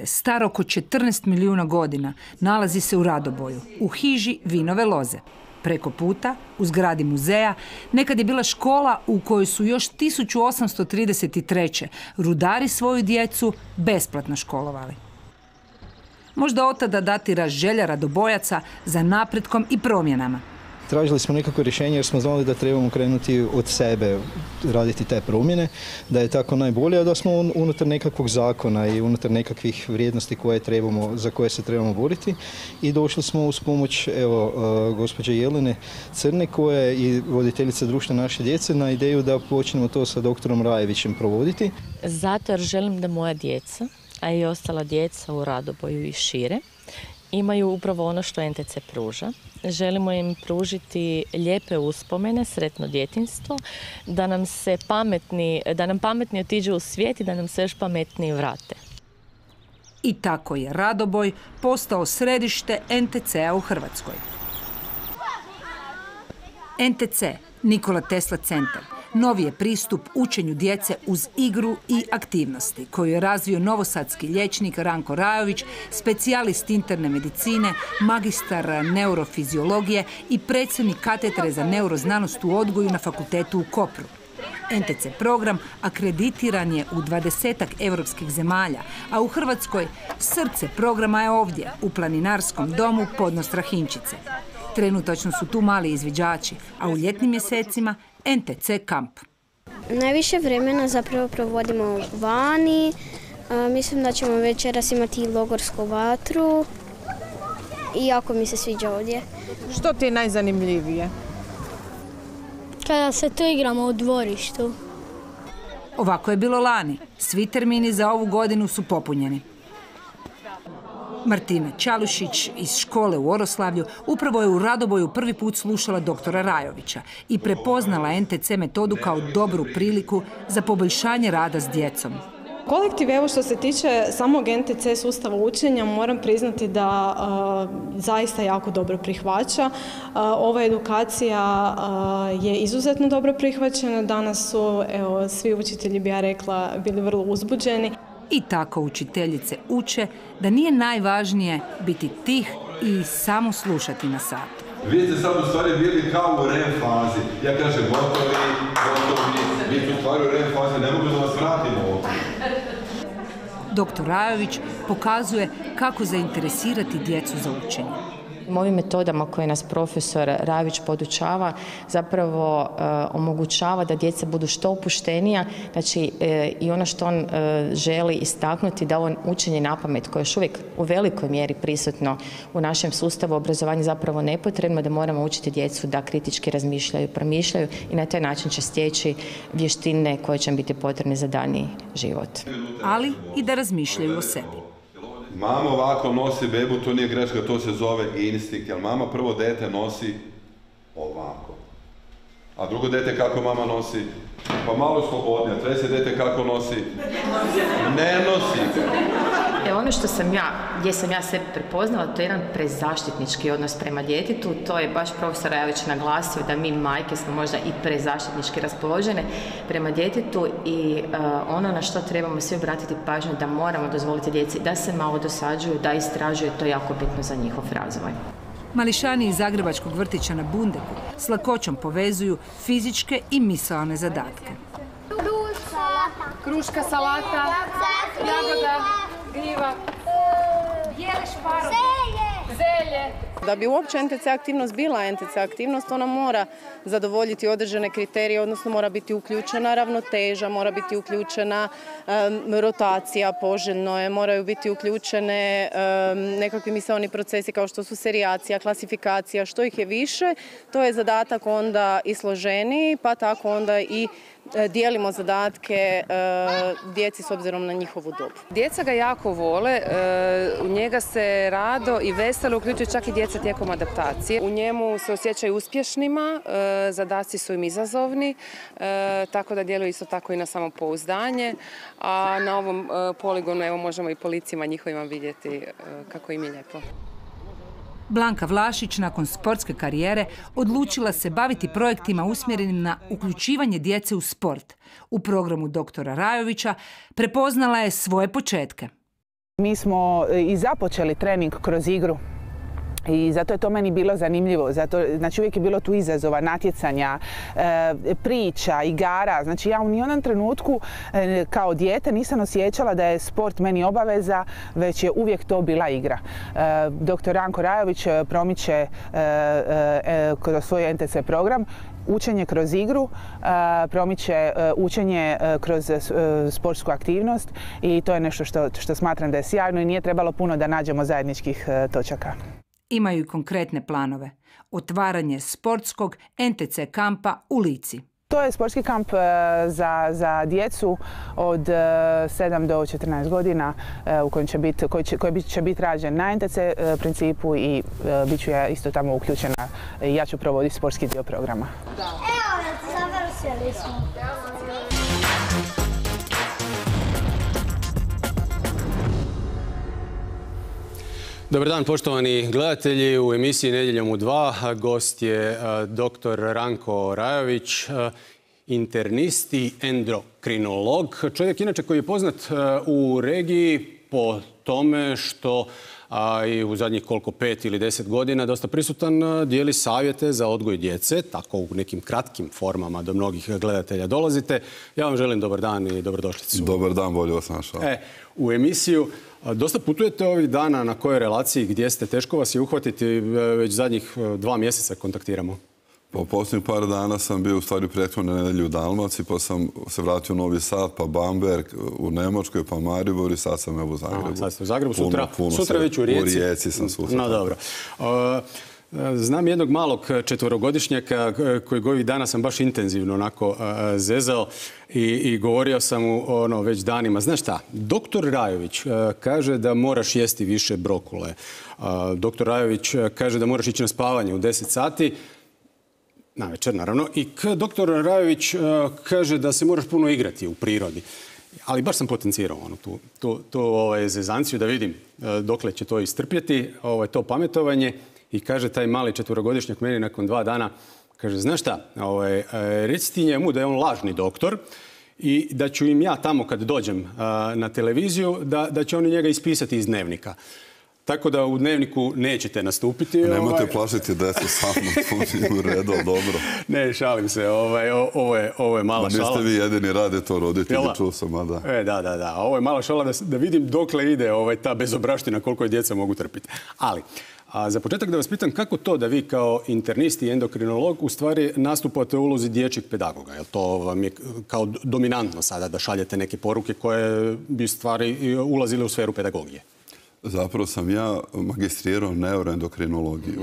Star oko 14 milijuna godina, nalazi se u Radoboju, u hiži Vinove loze. Preko puta, u zgradi muzeja, nekad je bila škola u kojoj su još 1833. rudari svoju djecu besplatno školovali. Možda od tada datira želja Radobojaca za napretkom i promjenama. Tražili smo nekako rješenje jer smo znali da trebamo krenuti od sebe, raditi te promjene, da je tako najbolje, a da smo unutar nekakvog zakona i unutar nekakvih vrijednosti za koje se trebamo boriti. I došli smo uz pomoć gospođe Jelene Crne, koja je i voditeljica društva naše djece, na ideju da počnemo to sa doktorom Rajevićem provoditi. Zato jer želim da moja djeca, a i ostala djeca u Radoboju i šire, imaju upravo ono što NTC pruža. Želimo im pružiti lijepe uspomene, sretno djetinjstvo, da nam pametni otiđu u svijet i da nam se još pametniji vrate. I tako je Radoboj postao središte NTC-a u Hrvatskoj. NTC, Nikola Tesla centar, novi je pristup učenju djece uz igru i aktivnosti, koju je razvio novosadski liječnik Ranko Rajović, specijalist interne medicine, magistar neurofiziologije i predsjednik katedre za neuroznanost u odgoju na fakultetu u Kopru. NTC program akreditiran je u 20-ak europskih zemalja, a u Hrvatskoj srce programa je ovdje, u planinarskom domu Podno Strahinčice. Trenutačno su tu mali izviđači, a u ljetnim mjesecima NTC kamp. Najviše vremena zapravo provodimo vani. Mislim da ćemo večeras imati logorsku vatru i jako mi se sviđa ovdje. Što ti je najzanimljivije? Kada se tu igramo u dvorištu. Ovako je bilo lani. Svi termini za ovu godinu su popunjeni. Martina Čalušić iz škole u Oroslavlju upravo je u Radoboju prvi put slušala doktora Rajovića i prepoznala NTC metodu kao dobru priliku za poboljšanje rada s djecom. Kolektiv, evo što se tiče samog NTC sustava učenja, moram priznati da zaista jako dobro prihvaća. Ova edukacija je izuzetno dobro prihvaćena. Danas su svi učitelji, bi ja rekla, bili vrlo uzbuđeni. I tako učiteljice uče da nije najvažnije biti tih i samo slušati na satu. Vi ste sad u stvari bili kao u REM fazi. Ja kažem gotovi, vi ste u stvari u REM fazi, ne mogu da vas vratimo ovdje. Doktor Rajović pokazuje kako zainteresirati djecu za učenje. Ovim metodama koje nas profesor Rajović podučava zapravo omogućava da djeca budu što opuštenija, znači i ono što on želi istaknuti da ovo učenje napamet koje je još uvijek u velikoj mjeri prisutno u našem sustavu obrazovanja zapravo nepotrebno, da moramo učiti djecu da kritički razmišljaju, promišljaju i na taj način će stječi vještine koje će im biti potrebne za daljnji život. Ali i da razmišljaju o sebi. Mama ovako nosi bebu, to nije greška, to se zove instinkt, jer mama prvo dete nosi ovako. A drugo dete kako mama nosi? Pa malo slobodnije. Treće dete kako nosi? Ne nosi. Ono gdje sam ja sebe prepoznala, to je jedan prezaštitnički odnos prema djetetu. To je baš profesor Rajović naglasio da mi majke smo možda i prezaštitnički raspoložene prema djetetu i ono na što trebamo svi obratiti pažnju da moramo dozvoliti djeci da se malo dosađuju, da istražuju, to je jako bitno za njihov razvoj. Mališani iz Zagrebačkog vrtića na Bundeku s lakoćom povezuju fizičke i misaone zadatke. Kruška, salata, jagoda, gljiva, bijele šparoge, zelje. Da bi uopće NTC aktivnost bila NTC aktivnost, ona mora zadovoljiti određene kriterije, odnosno mora biti uključena ravnoteža, mora biti uključena rotacija, poželjno je, moraju biti uključene nekakvi misaoni procesi kao što su serijacija, klasifikacija, što ih je više, to je zadatak onda i složeniji, pa tako onda i dijelimo zadatke djeci s obzirom na njihovu dobu. Djeca ga jako vole, u njega se rado i veselo uključuju čak i djeca tijekom adaptacije. U njemu se osjećaju uspješnima, zadaci su im izazovni, tako da djeluju isto tako i na samopouzdanje, a na ovom poligonu evo možemo i po licima njihovima vidjeti kako im je lijepo. Blanka Vlašić nakon sportske karijere odlučila se baviti projektima usmjerenim na uključivanje djece u sport. U programu doktora Rajovića prepoznala je svoje početke. Mi smo i započeli trening kroz igru. I zato je to meni bilo zanimljivo. Znači uvijek je bilo tu izazova, natjecanja, priča, igara. Znači ja u nijednom trenutku kao dijete nisam osjećala da je sport meni obaveza, već je uvijek to bila igra. Dr. Ranko Rajović promiče kroz svoj NTC program učenje kroz igru, promiče učenje kroz sportsku aktivnost i to je nešto što smatram da je sjajno i nije trebalo puno da nađemo zajedničkih točaka. Imaju i konkretne planove. Otvaranje sportskog NTC kampa u Lici. To je sportski kamp za djecu od 7 do 14 godina koji će biti rađen na NTC principu i bit ću ja isto tamo uključena. Ja ću provoditi sportski dio programa. Evo, završili smo. Dobar dan, poštovani gledatelji. U emisiji Nedjeljom u 2 gost je dr. Ranko Rajović, internist i endokrinolog. Čovjek inače koji je poznat u regiji po tome što i u zadnjih 5 ili 10 godina dosta prisutan, dijeli savjete za odgoj djece, tako u nekim kratkim formama do mnogih gledatelja dolazite. Ja vam želim dobar dan i dobrodošlicu. Dobar dan, bolje vas našao. U emisiju dosta putujete ovih dana, na kojoj relaciji, gdje ste, teško vas je uhvatiti, već zadnjih 2 mjeseca kontaktiramo. Po posljednjih par dana sam bio u stvari prethodne nedelje u Dalmaciji, pa sam se vratio u Novi Sad, pa Bamberg u Nemačkoj, pa Maribor i sad sam u Zagrebu. Sad ste u Zagrebu, sutra već u Rijeci. U Rijeci sam sutra. No dobro. Znam jednog malog 4-godišnjaka kojeg ovih dana sam baš intenzivno onako zezao i govorio sam mu već danima. Znaš šta, doktor Rajović kaže da moraš jesti više brokule. Doktor Rajović kaže da moraš ići na spavanje u 10 sati. Na večer, naravno. I doktor Rajović kaže da se moraš puno igrati u prirodi. Ali baš sam potencirao tu zezanciju da vidim dokle će to istrpjeti, to pametovanje. I kaže taj mali 4-godišnjak meni nakon 2 dana, kaže, znaš šta, reci ti njemu da je on lažni doktor i da ću im ja tamo kad dođem na televiziju, da će oni njega ispisati iz dnevnika. Tako da u dnevniku nećete nastupiti. Nemojte plašiti decu sa mnom, to u redu, dobro. Ne, šalim se, ovo je mala šala. Niste vi jedini, rade to roditelji, čuo sam, a da. Da. Ovo je mala šala da vidim dokle ide ta bezobraština, koliko je djeca mogu trpiti. Ali, za početak da vas pitam kako to da vi kao internist i endokrinolog u stvari nastupate u ulozi dječjeg pedagoga? Jel to vam je kao dominantno sada da šaljete neke poruke koje bi stvari ulazile u sferu pedagogije? Zapravo sam ja magistrirao neuroendokrinologiju.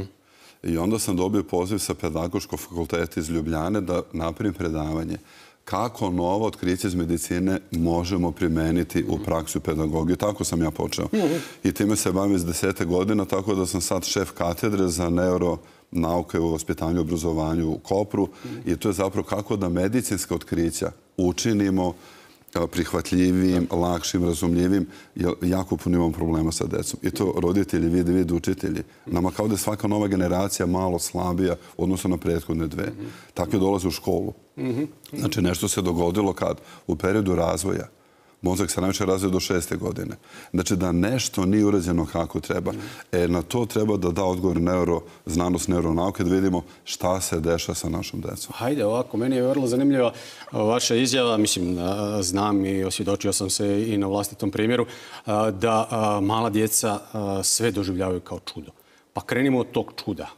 I onda sam dobio poziv sa Pedagoškog fakulteta iz Ljubljane da napravim predavanje kako novo otkriće iz medicine možemo primeniti u praksu pedagogije. Tako sam ja počeo. I time se bavim iz 10 godina, tako da sam sad šef katedre za neuronauke u vaspitanju i obrazovanju u Kopru. I to je zapravo kako da medicinska otkrića učinimo prihvatljivim, lakšim, razumljivim, jer jako puno imamo problema sa decom. I to roditelji vide učitelji. Nama kao da je svaka nova generacija malo slabija odnosno na prethodne 2. Tako je dolaze u školu. Znači nešto se dogodilo kad u periodu razvoja mozak se najviše razvija do 6. godine. Znači da nešto nije urađeno kako treba. Na to treba da da odgovor znanost neuronauke, da vidimo šta se dešava sa našom decom. Hajde, ovako, meni je vrlo zanimljiva vaša izjava, mislim, znam i osvjedočio sam se i na vlastitom primjeru, da mala djeca sve doživljavaju kao čudo. Pa krenimo od tog čuda.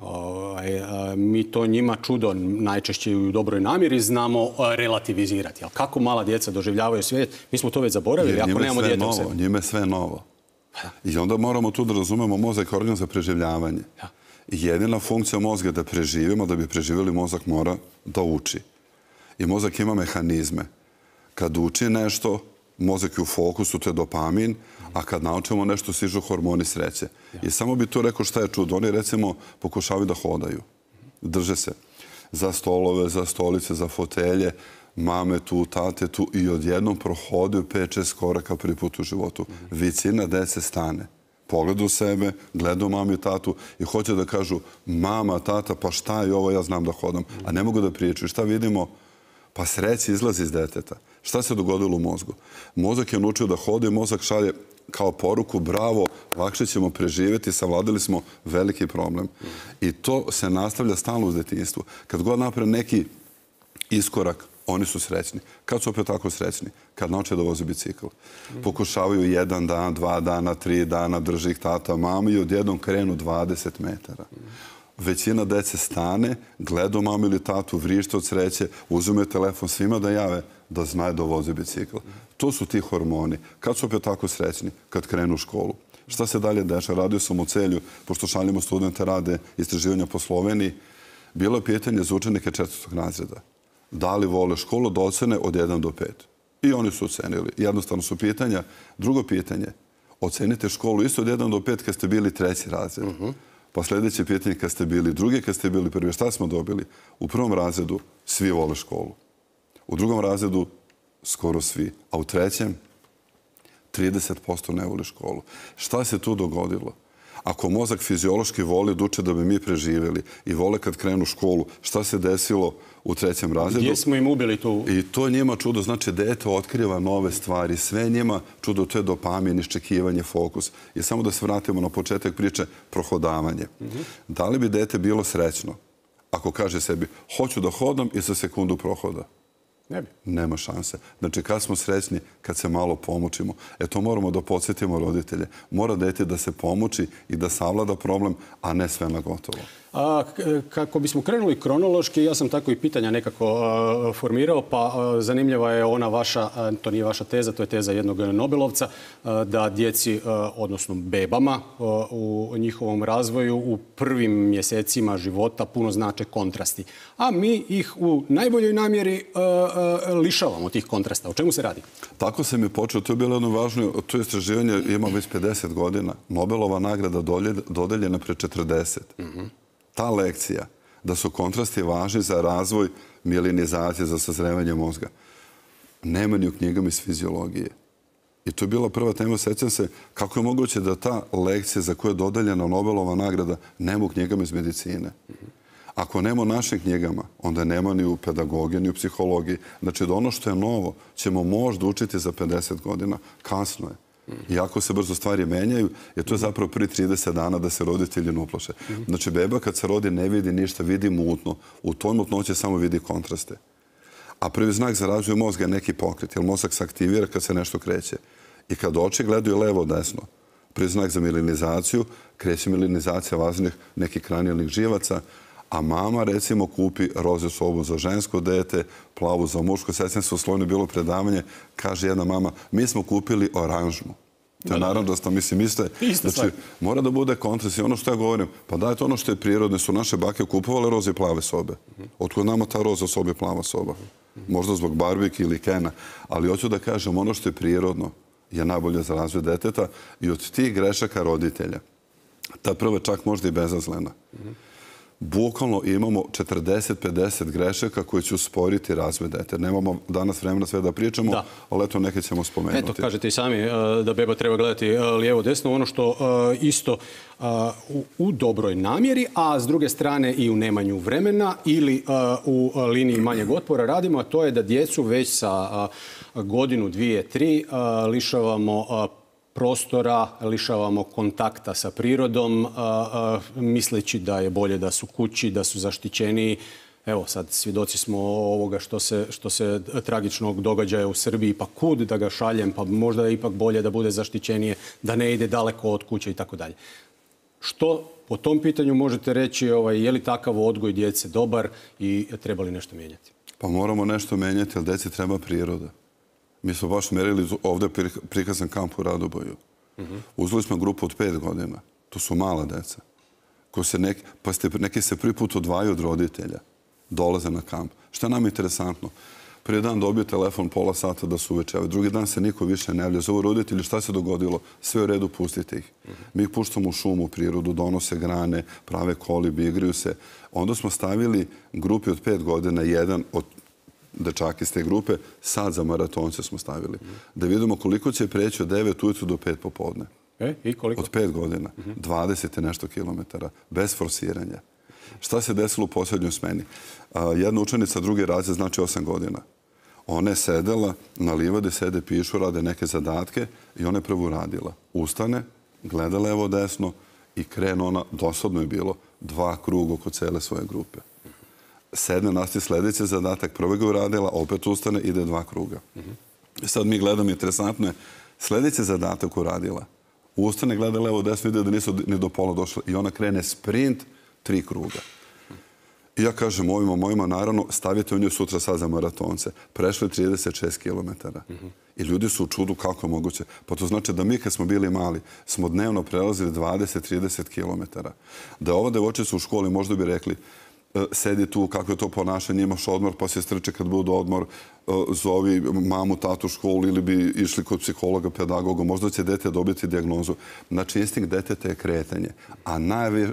Mi to njima čudo najčešće u dobroj namjeri znamo relativizirati. Ali kako mala djeca doživljavaju svijet? Mi smo to već zaboravili ako nemamo dijete u sebi. Njime sve novo. I onda moramo tu da razumemo mozak kao organ za preživljavanje. Jedina funkcija mozga je da preživimo, da bi preživjeli mozak mora da uči. I mozak ima mehanizme. Kad uči nešto, mozak je u fokusu, to je dopamin, a kad naučimo nešto, sižu hormoni sreće. I samo bi tu rekao šta je čudo. Oni, recimo, pokušavaju da hodaju. Drže se za stolove, za stolice, za fotelje, mame tu, tate tu i odjednom prohodaju 5-6 koraka prvi put u životu. Većina dece stane. Pogledu sebe, gledaju mami i tatu i hoće da kažu mama, tata, pa šta je ovo, ja znam da hodam. A ne mogu da pričaju. Šta vidimo? Pa sreća izlazi iz deteta. Šta se dogodilo u mozgu? Mozak je naučio da hode i mozak šalje kao poruku, bravo, lakše ćemo preživjeti, savladali smo veliki problem. I to se nastavlja stalno u detinjstvu. Kad god naprave neki iskorak, oni su srećni. Kad su opet tako srećni? Kad nauče da voze bicikl. Pokušavaju 1 dan, 2 dana, 3 dana, drži ih tata, mama i odjednom krenu 20 metara. Većina dece stane, gleda mamu ili tatu, vrište od sreće, uzume telefon svima da jave da znaju da voze bicikl. To su ti hormoni. Kad su opet tako srećni? Kad krenu u školu. Šta se dalje dešava? Radio sam u Celju, pošto šaljimo studente, rade istraživanja po Sloveniji. Bilo je pitanje za učenike 4. razreda. Da li vole školu da ocene od 1 do 5? I oni su ocenili. Jednostavno su pitanja. Drugo pitanje, ocenite školu isto od 1 do 5 kad ste bili 3. razred. Pa sljedeće pitanje kad ste bili 2, kad ste bili 1. Šta smo dobili? U 1. razredu svi vole školu. U 2. razredu skoro svi. A u 3. 30% ne voli školu. Šta se tu dogodilo? Ako mozak fiziološki voli da uče da bi mi preživjeli i vole kad krenu u školu, šta se desilo u 3. razredu? Gdje smo im ubili tu? I to je njima čudo. Znači, dete otkriva nove stvari. Sve njima čudo, to je dopamin, iščekivanje, fokus. I samo da se vratimo na početak priče, prohodavanje. Da li bi dete bilo srećno ako kaže sebi, hoću da hodam i za sekundu prohoda? Ne bi. Nema šanse. Znači, kad smo srećni, kad se malo pomučimo. To moramo da podsjetimo roditelje. Mora dete da se pomuči i da savlada problem, a ne sve na gotovo. Kako bismo krenuli kronološki, ja sam tako i pitanja nekako formirao, pa zanimljiva je ona vaša, to nije vaša teza, to je teza jednog Nobelovca, da djeci, odnosno bebama u njihovom razvoju u prvim mjesecima života puno znače kontrasti. A mi ih u najboljoj namjeri lišavamo tih kontrasta. O čemu se radi? Tako se mi počeo. To je bilo jedno važno, to istraživanje ima već 50 godina. Nobelova nagrada dodeljena pre 40. Ta lekcija da su kontrasti važni za razvoj mielinizacije, za sazrevanje mozga, nema ni u knjigama iz fiziologije. I to je bila prva tema. Sjećam se kako je moguće da ta lekcija za koju je dodeljena Nobelova nagrada nema u knjigama iz medicine. Ako nema u našim knjigama, onda nema ni u pedagogiji, ni u psihologiji. Znači da ono što je novo ćemo možda učiti za 50 godina. Kasno je. Iako se brzo stvari menjaju, jer to je zapravo prvi 30 dana da se roditelji ne uplaše. Znači, beba kad se rodi ne vidi ništa, vidi mutno. U toj mutnoći samo vidi kontraste. A prvi znak za razvoj mozga je neki pokret, jer mozak se aktivira kad se nešto kreće. I kad oči gledaju levo-desno, prvi znak za mielinizaciju, kreće mielinizacija važnih nekih kranijalnih živaca, a mama, recimo, kupi roze sobu za žensko dete, plavu za muško. Sjećam se u Slovenu bilo predavanje, kaže jedna mama, mi smo kupili oranžnu. To je naravno da mislite, znači, mora da bude kontrast. I ono što ja govorim, pa dajte ono što je prirodno, su naše bake kupovale roze i plave sobe. Otkud nama ta roza soba i plava soba? Možda zbog barbike ili Kena. Ali hoću da kažem, ono što je prirodno je najbolje za razvoj deteta i od tih grešaka roditelja. Ta prva čak možda i bezazlena. Bukvalno imamo 40-50 grešaka koji će usporiti razvoj dete. Nemamo danas vremena sve da pričamo, ali eto neke ćemo spomenuti. Eto, kažete i sami da beba treba gledati lijevo-desno, ono što isto u dobroj namjeri, a s druge strane i u nemanju vremena ili u liniji manjeg otpora radimo, a to je da djecu već sa godinu, 2, 3 lišavamo prostora, lišavamo kontakta sa prirodom, misleći da je bolje da su kući, da su zaštićeniji. Evo sad svjedoci smo ovoga što se tragičnog događaja u Srbiji, pa kud da ga šaljem, pa možda je ipak bolje da bude zaštićenije, da ne ide daleko od kuće i tako dalje. Što po tom pitanju možete reći, je li takav odgoj djece dobar i treba li nešto mijenjati? Pa moramo nešto mijenjati, ali djeci treba priroda. Mi smo baš merili ovdje prikazan kamp u Radoboju. Uzeli smo grupu od 5 godina. To su mala deca. Pa neki se prvi put odvajaju od roditelja. Dolaze na kamp. Šta nam je interesantno? Prvi dan dobiju telefon pola sata da su uvečevaju. Drugi dan se niko više ne javlja. Zovu roditelji, šta se dogodilo? Sve u redu, pustite ih. Mi ih puštamo u šumu, u prirodu, donose grane, prave kolibi, igraju se. Onda smo stavili grupi od 5 godina, jedan od dečaka iz te grupe, sad za maratonce smo stavili. Da vidimo koliko će preći od 9 ujutru do 5 popodne. I koliko? Od 5 godina. 20 i nešto kilometara. Bez forsiranja. Šta se desilo u posljednjoj smeni? Jedna učenica, drugi razred, znači 8 godina. Ona je sedela na livadi, sede, pišu, rade neke zadatke i ona je prvo radila. Ustane, gleda levo desno i krene ona, dosadno je bilo, 2 kruga oko cele svoje grupe. Sedne, nastavi sljedeći zadatak, prvo ga uradila, opet ustane, ide 2 kruga. Sad mi gledamo, interesantno je, sljedeći zadatak uradila. Ustane, gleda levo desno, ide da nisu ni do pola došli i ona krene sprint 3 kruga. I ja kažem ovima mojima, naravno, stavite u nju sutra sad za maratonce. Prešli 36 kilometara. I ljudi su u čudu kako je moguće. Pa to znači da mi kad smo bili mali, smo dnevno prelazili 20-30 kilometara. Da ova devojčica u školi možda bi rekli sedi tu, kako je to ponašanje, imaš odmor, pa se strče kad bude odmor, zovi mamu, tatu u školu ili bi išli kod psihologa, pedagoga, možda će dete dobiti dijagnozu. Znači, instinkt deteta je kretanje. A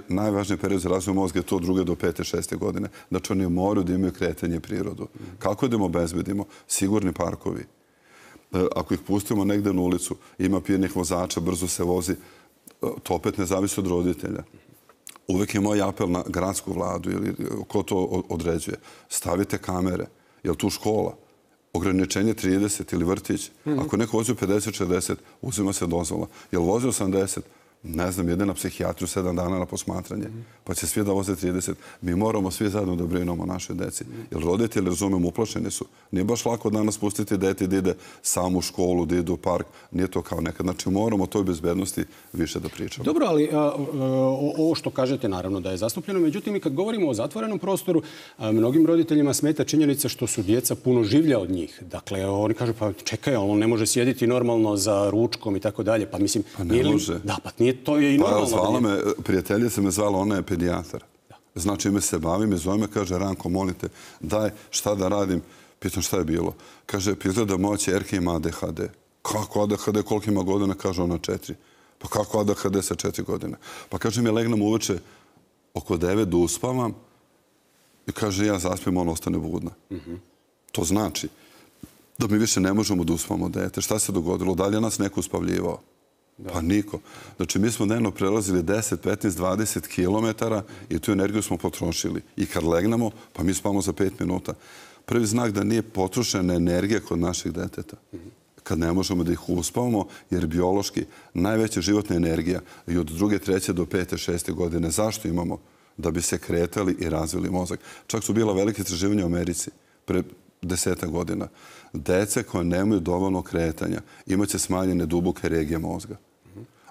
najvažniji period za razvoj mozga je to 2. do 5. 6. godine. Znači, oni moraju da imaju kretanje i prirodu. Kako da im obezbedimo? Sigurni parkovi. Ako ih pustimo negde na ulicu, ima pijenih vozača, brzo se vozi, to opet ne zavisi od roditelja. Uvijek je moj apel na gradsku vladu ili ko to određuje. Stavite kamere. Je li tu škola? Ograničenje 30 ili vrtić. Ako neko vozi u 50-60, uzima se dozvola. Je li vozi 80? Ne znam, ide na psihijatriju 7 dana na posmatranje. Pa će svi da voze 30. Mi moramo svi zajedno da brinemo o našoj deci. Jer roditelji, razumem, uplašeni su. Nije baš lako danas pustiti dete da ide sam u školu, da ide u park. Nije to kao nekad. Znači moramo o toj bezbednosti više da pričamo. Dobro, ali ovo što kažete naravno da je zastupljeno. Međutim, i kad govorimo o zatvorenom prostoru, mnogim roditeljima smeta činjenica što su djeca puno življa od njih. Dakle, oni kažu, pa čekaj, on ne može sjediti normalno za ručkom i tako dalje. Pa mislim, pa ne može. Da, pa to je i normalno. Zvala me, prijateljica me zvala, ona je pedijatar. Znači, ime se bavim i zove me, kaže, Ranko, molite, daj, šta da radim? Pitam šta je bilo. Kaže, izgleda moja ćerka ima ADHD. Kako ADHD, koliko ima godina? Kaže, ona 4. Pa kako ADHD sa 4 godine? Pa kaže mi, legnem uveče oko 9 da uspavam i kaže, ja zaspim, ona ostane budna. To znači da mi više ne možemo da uspavamo dete. Šta se dogodilo? Da li je nas neko uspavljivao? Pa niko. Znači, mi smo dnevno prelazili 10, 15, 20 kilometara i tu energiju smo potrošili. I kad legnemo, pa mi spavamo za 5 minuta. Prvi znak da nije potrošena energija kod naših deteta. Kad ne možemo da ih uspavamo, jer biološki najveća životna energija i od 2., 3. do 5., 6. godine. Zašto imamo? Da bi se kretali i razvili mozak. Čak su bila velike istraživanja u Americi pre 10 godina. Dece koje nemaju dovoljno kretanja imaće smanjene duboke regije mozga.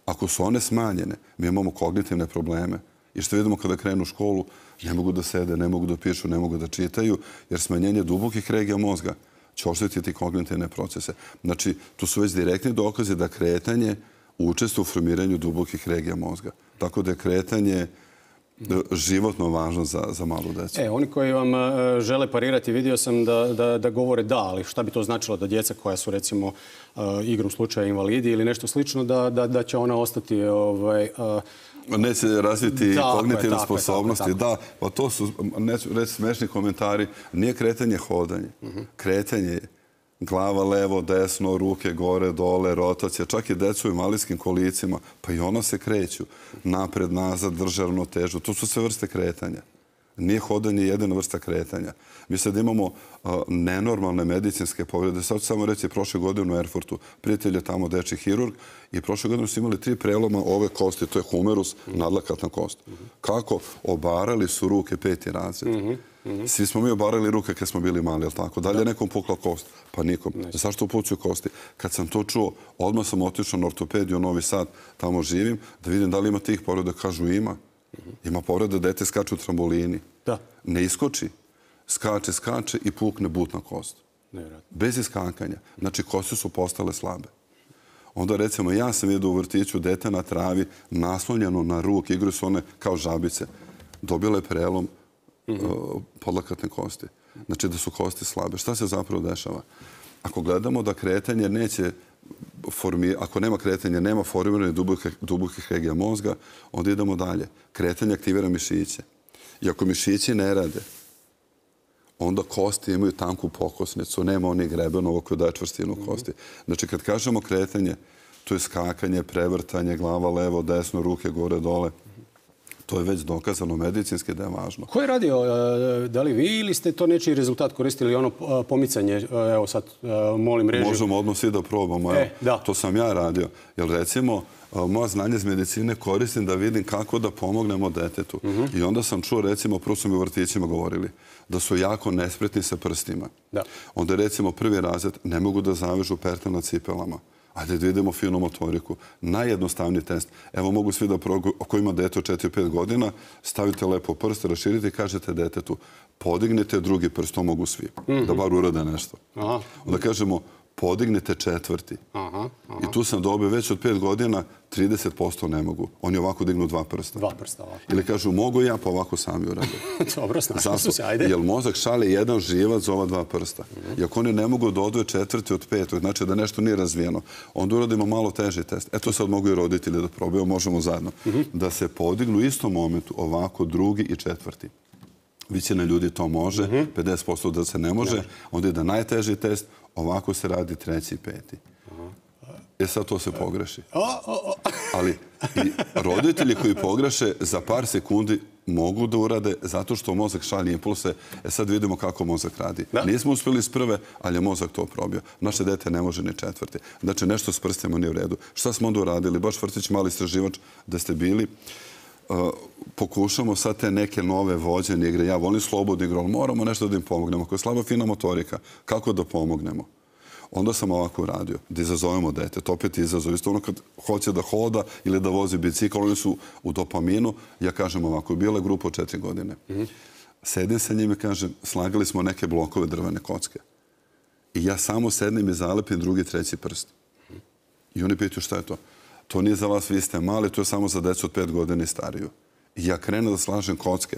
Ako su one smanjene, mi imamo kognitivne probleme. I što vidimo kada krenu u školu, ne mogu da sede, ne mogu da pišu, ne mogu da čitaju, jer smanjenje dubokih regija mozga će oštetiti kognitivne procese. Znači, tu su već direktni dokazi da kretanje učestvuje u formiranju dubokih regija mozga. Tako da je kretanje životno važno za malu djecu. Oni koji vam žele parirati, vidio sam da govore da, ali šta bi to značilo da djeca koja su recimo igrom slučaja invalidi ili nešto slično, da će ona ostati neće razviti kognitivne sposobnosti. Da, pa to su, neću reći, smešni komentari. Nije kretanje hodanje. Kretanje je glava levo, desno, ruke gore, dole, rotacija. Čak i decu u invalidskim kolicima. Pa i ono se kreću. Napred, nazad, drže ravnotežu. To su sve vrste kretanja. Nije hodanje jedina vrsta kretanja. Mi sad imamo nenormalne medicinske povrede. Sad ću samo reći, prošle godine u Erfurtu prijatelj je tamo dečji hirurg i prošle godine su imali 3 preloma ove kosti. To je humerus, nadlakatna kost. Kako? Obarali su ruke 5. razred. Svi smo mi obarali ruke kad smo bili mali, jel tako? Da li je nekom pukla kost? Pa nikom. Zašto upucuju kosti? Kad sam to čuo, odmah sam otišao na ortopediju u Novi Sad, tamo živim, da vidim da li ima tih povreda. Kažu ima. Ima povreda, dete skače u trambolini. Ne iskoči. Skače i pukne butna kost. Bez iskakanja. Znači, kosti su postale slabe. Onda recimo, ja sam vidio u vrtiću dete na travi, naslonjeno na ruk, igraju su one kao žabice. Dobile je prelom podlakatne kosti. Znači da su kosti slabe. Šta se zapravo dešava? Ako gledamo da kretanje neće ako nema kretanja, nema formirane dubokih regija mozga, onda idemo dalje. Kretanje aktivira mišiće. I ako mišići ne rade, onda kosti imaju tanku pokosnicu, nema onih grebenova koji daje čvrstinu kosti. Znači, kad kažemo kretanje, to je skakanje, prevrtanje, glava levo, desno, ruke gore, dole. To je već dokazano medicinski da je važno. Ko je radio, da li vi ili ste to nečiji rezultat koristili, ono pomicanje, evo sad molim režiju? Možemo odmah svi da probamo. To sam ja radio. Jer recimo, moja znanje iz medicine koristim da vidim kako da pomognemo detetu. I onda sam čuo, recimo, prvo su mi u vrtićima govorili, da su jako nespretni sa prstima. Onda recimo prvi razred ne mogu da zavežu pertle na cipelama. Ajde da vidimo finu motoriku. Najjednostavniji test. Evo mogu svi da ako ima dete od 4-5 godina, stavite lepo prst, raširite i kažete detetu podignite drugi prst, to mogu svi. Da bar urade nešto. Onda kažemo podignite četvrti. I tu sam dobio već od 5 godina 30% ne mogu. Oni ovako dignu 2 prsta. 2 prsta ovako. Ili kažu mogu ja, pa ovako sami urade. Dobro, snašli su se, ajde. Jer mozak šalje jedan živac za ova 2 prsta. I ako oni ne mogu da odvoje četvrti od 5, znači da nešto nije razvijeno, onda uradimo malo teži test. Eto sad mogu i roditelji da probaju, možemo zajedno. Da se podignu u istom momentu ovako drugi i četvrti. Većina ljudi to može, 50% da se ne može, onda ide najteži test, ovako se radi treći i peti. Sad to se pogreši. Ali i roditelji koji pogreše za par sekundi mogu da urade zato što mozak šalje impulse. Sad vidimo kako mozak radi. Nismo uspjeli s prve, ali je mozak to probio. Naše dete ne može ni četvrti. Znači nešto s prstima nije u redu. Šta smo onda uradili? Baš vrtić, mali istraživač da ste bili. Pokušamo sad te neke nove vođene igre. Ja volim slobodnu igru, ali moramo nešto da im pomognemo. Ako je slaba fina motorika, kako da pomognemo? Onda sam ovako uradio, da izazovemo dete. To opet izazov. Isto ono kad hoće da hoda ili da vozi bicikl, oni su u dopaminu. Ja kažem ovako, bila je grupa od 4 godine. Sedim sa njim i kažem, slagali smo neke blokove drvene kocke. I ja samo sednem i zalepim drugi, treći prst. I oni pitaju šta je to? To nije za vas, vi ste mali, to je samo za decu od 5 godina i stariju. I ja krenem da slažem kocke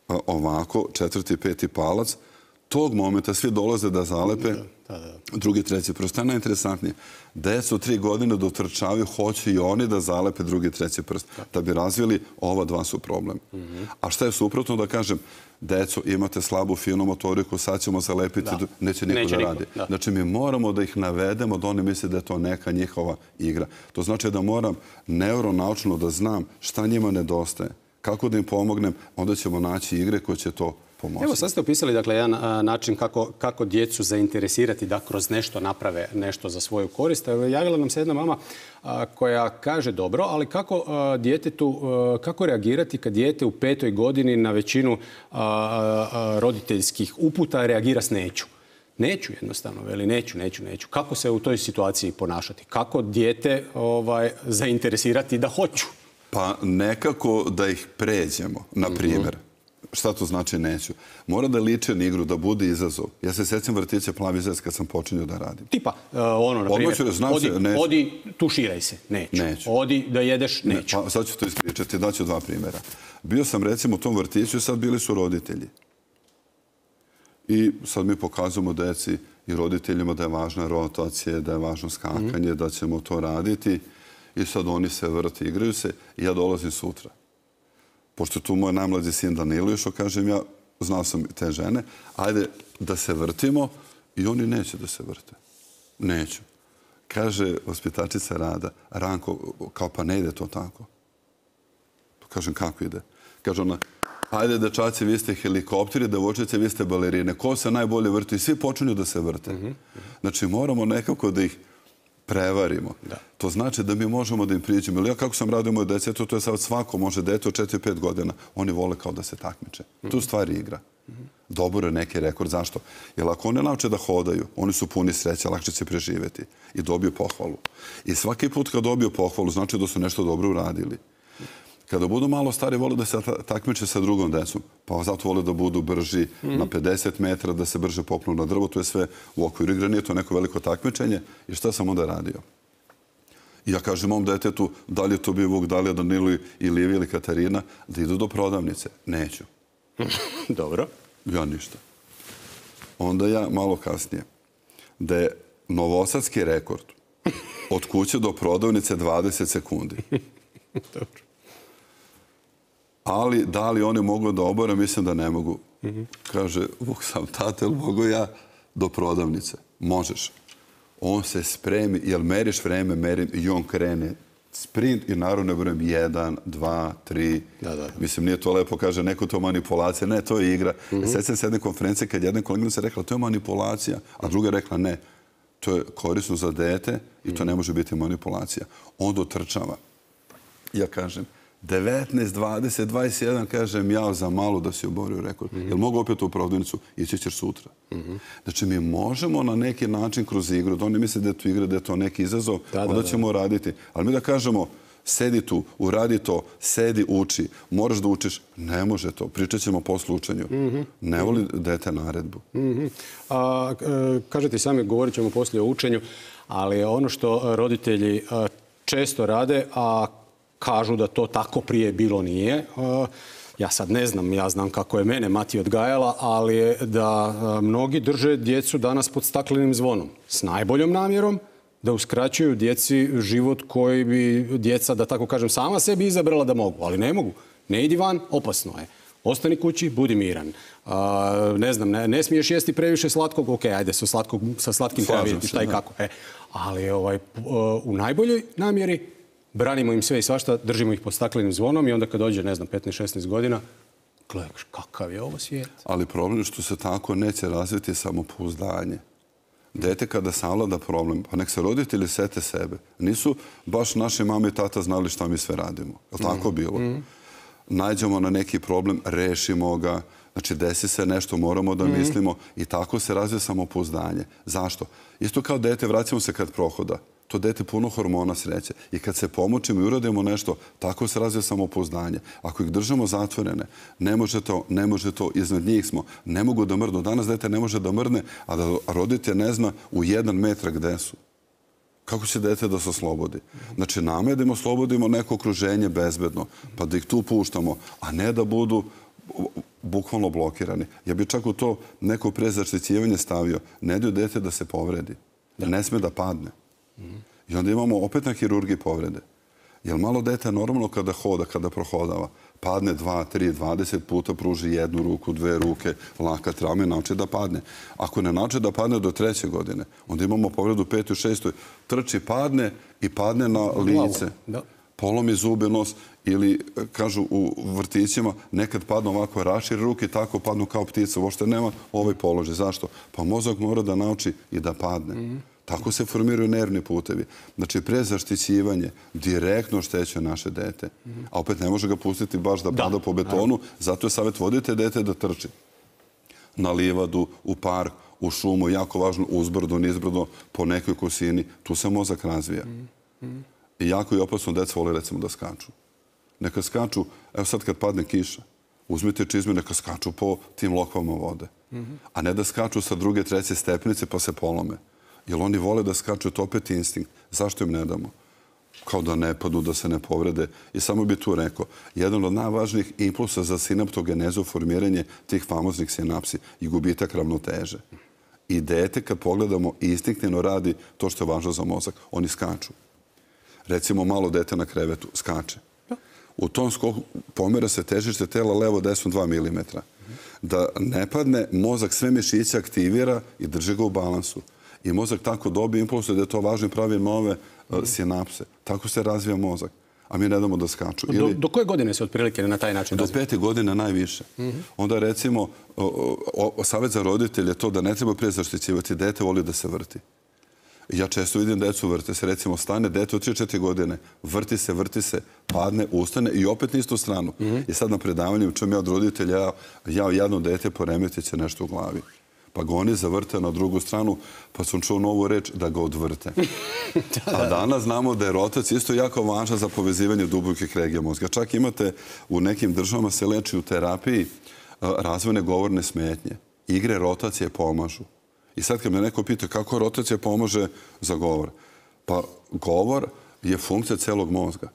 ovako, 4. i 5. palac. Tog momenta svi dolaze da zalepe drugi, treći prst. To je najinteresantnije. Deca od 3 godine dotrčavaju, hoće i oni da zalepe drugi, treći prst. Da bi razvili, ova 2 su problem. A šta je suprotno da kažem, deco, imate slabu finu motoriku, sad ćemo zalepiti, neće niko da radi. Znači, mi moramo da ih navedemo da oni misle da je to neka njihova igra. To znači da moram neuronaučno da znam šta njima nedostaje, kako da im pomognem, onda ćemo naći igre koje će to pomoći. Evo, sad ste opisali jedan način kako djecu zainteresirati da kroz nešto naprave nešto za svoju korist. Javila nam se jedna mama koja kaže dobro, ali kako reagirati kad dijete u 5. godini na većinu roditeljskih uputa reagira s neću? Neću jednostavno, veli neću. Kako se u toj situaciji ponašati? Kako dijete zainteresirati da hoću? Pa nekako da ih pređemo, na primjer. Šta to znači neću? Mora da liče na igru, da bude izazov. Ja se sjećam vrtića Plavi zec kad sam počinio da radim. Tipa, na primjer, odi tuširaj se, neću. Odi da jedeš, neću. Sad ću to ispričati, daću 2 primjera. Bio sam recimo u tom vrtiću i sad bili su roditelji. I sad mi pokazujemo deci i roditeljima da je važna rotacija, da je važno skakanje, da ćemo to raditi. I sad oni se vrti, igraju se i ja dolazim sutra. Pošto tu moj najmlađi sin Danilo išao, kažem ja, znao sam te žene, ajde da se vrtimo i oni neće da se vrte. Neću. Kaže vaspitačica Rada, Ranko, kao pa ne ide to tako. Kažem, kako ide? Kaže ona, ajde dečaci, vi ste helikopteri, devojčice, vi ste balerine. Ko se najbolje vrti? Svi počinju da se vrte. Znači, moramo nekako da ih prevarimo. To znači da mi možemo da im priđemo. Ili ja kako sam radio moje dece, to je sad svako može dete od 4-5 godina. Oni vole kao da se takmiče. Tu stvari igra. Dobro je neki rekord. Zašto? Jer ako oni nauče da hodaju, oni su puni sreće, lakše će preživjeti. I dobiju pohvalu. I svaki put kad dobiju pohvalu, znači da su nešto dobro uradili. Kada budu malo stari, vole da se takmiče sa drugom decom. Pa zato vole da budu brži na 50 metara, da se brže popnu na drvo. To je sve u okviru igre. Nije to neko veliko takmičenje. I šta sam onda radio? I ja kažem mom detetu, da li je to bio Vuk, da li je Danilo i Livija ili Katarina, da idu do prodavnice. Neću. Dobro. Ja ništa. Onda ja malo kasnije. Da je novosadski rekord od kuće do prodavnice 20 sekundi. Dobro. Ali da li oni mogu da obore, mislim da ne mogu. Kaže, Vuk sam tate, ili mogu ja do prodavnice? Možeš. On se spremi, jel meriš vreme, merim, i on krene sprint i naravno brojem 1, 2, 3. Mislim, nije to lepo, kaže, neko to manipulacija. Ne, to je igra. Sjećam se jedne konferencije kad jedna koleginica rekla to je manipulacija, a druga je rekla ne, to je korisno za dete i to ne može biti manipulacija. Onda otrčava. Ja kažem, 19, 20, 21, kažem, ja za malo da si oborio rekord. Jel mogu opet u prodavnicu? Ići ćeš sutra. Znači, mi možemo na neki način kroz igru, da oni misle da je to igra, da je to neki izazov, onda ćemo raditi. Ali mi da kažemo, sedi tu, uradi to, sedi, uči, moraš da učiš, ne može to. Pričat ćemo posle učenju. Ne voli dete naredbu. Kažete sami, govorit ćemo poslije o učenju, ali ono što roditelji često rade, a kažu da to tako prije bilo nije. Ja sad ne znam, ja znam kako je mene mati odgajala, ali je da mnogi drže djecu danas pod staklenim zvonom. S najboljom namjerom da uskraćuju djeci život koji bi djeca, da tako kažem, sama sebi izabrala da mogu. Ali ne mogu. Ne idi van, opasno je. Ostani kući, budi miran. Ne znam, ne smiješ jesti previše slatkog, ok, ajde sa slatkim treba vidjeti šta i kako. Ali u najboljoj namjeri branimo im sve i svašta, držimo ih pod staklenim zvonom i onda kad dođe, ne znam, 15-16 godina, gledaš kakav je ovo svijet. Ali problem je što se tako neće razviti samopouzdanje. Dete kada savlada problem, pa nek se roditelji sete sebe. Nisu baš naše mame i tata znali šta mi sve radimo. Je li tako bilo? Nađemo na neki problem, rešimo ga, znači desi se nešto, moramo da mislimo i tako se razvije samopouzdanje. Zašto? Isto kao dete, vraćamo se kad prohoda. To dete puno hormona sreće. I kad se pomoćimo i uradimo nešto, tako se razvije samopouzdanje. Ako ih držamo zatvorene, ne može to, iznad njih smo, ne mogu da mrdnu. Danas dete ne može da mrdne, a da roditelj ne zna u 1 metar gde su. Kako će dete da se oslobodi? Znači, nama je da im oslobodimo neko okruženje bezbedno, pa da ih tu puštamo, a ne da budu bukvalno blokirani. Ja bih čak u to neko prezaštićivanje stavio. Ne daju dete da se povredi. Ne sme da padne. I onda imamo opet na hirurgiji povrede. Jer malo dete normalno kada hoda, kada prohodava, padne 2, 3, 20 puta, pruži 1 ruku, 2 ruke, laka trauma i nauči da padne. Ako ne nauči da padne do 3. godine, onda imamo povredu 5. i 6. Trči, padne i padne na lice. Polomi zube, nos ili, kažu u vrtićima, nekad padnu ovako, raširi ruke i tako padnu kao ptica. Uopšte nema ovaj položaj. Zašto? Pa mozak mora da nauči i da padne. Tako se formiraju nervni putevi. Znači, prezaštićivanje direktno šteće naše dete. A opet ne može ga pustiti baš da pada po betonu. Zato je savjet, vodite dete da trči. Na livadu, u park, u šumu, jako važno, uzbrdo, nizbrdo, po nekoj kosini. Tu se mozak razvija. I jako je opasno, deca vole recimo da skaču. Neka skaču, evo sad kad padne kiša, uzmite čizme, neka skaču po tim lokvama vode. A ne da skaču sa 2., 3. stepenice pa se polome. Jer oni vole da skaču, to opet instinkt. Zašto im ne damo? Kao da ne padnu, da se ne povrede. I samo bi tu rekao, jedan od najvažnijih impulsa za sinaptogenezu, formiranje tih famoznih sinapsi i gubitak ravnoteže. I dete, kad pogledamo, instinktivno radi to što je važno za mozak. Oni skaču. Recimo, malo dete na krevetu skače. U tom skoku pomera se težište tela levo desno 2 mm. Da ne padne, mozak sve mišiće aktivira i drži ga u balansu. I mozak tako dobije impulse da je to važno i pravi nove sinapse. Tako se razvija mozak. A mi ne damo da skaču. Do koje godine se otprilike na taj način razvija? Do 5. godine najviše. Onda recimo, savjet za roditelje je to da ne treba prije zaštićivati. Dete voli da se vrti. Ja često vidim decu vrte se. Recimo, stane dete od 3-4 godine, vrti se, padne, ustane i opet na istu stranu. I sad na predavanju čujem ja od roditelja, jedno dete poremetit će nešto u glavi. Pa ga oni zavrte na drugu stranu, pa sam čuo novu reč da ga odvrte. A danas znamo da je rotacija isto jako važna za povezivanje dubokih regija mozga. Čak imate u nekim državama se leči u terapiji razvojne govorne smetnje. Igre rotacije pomažu. I sad kad me neko pita kako rotacija pomaže za govor, pa govor je funkcija celog mozga,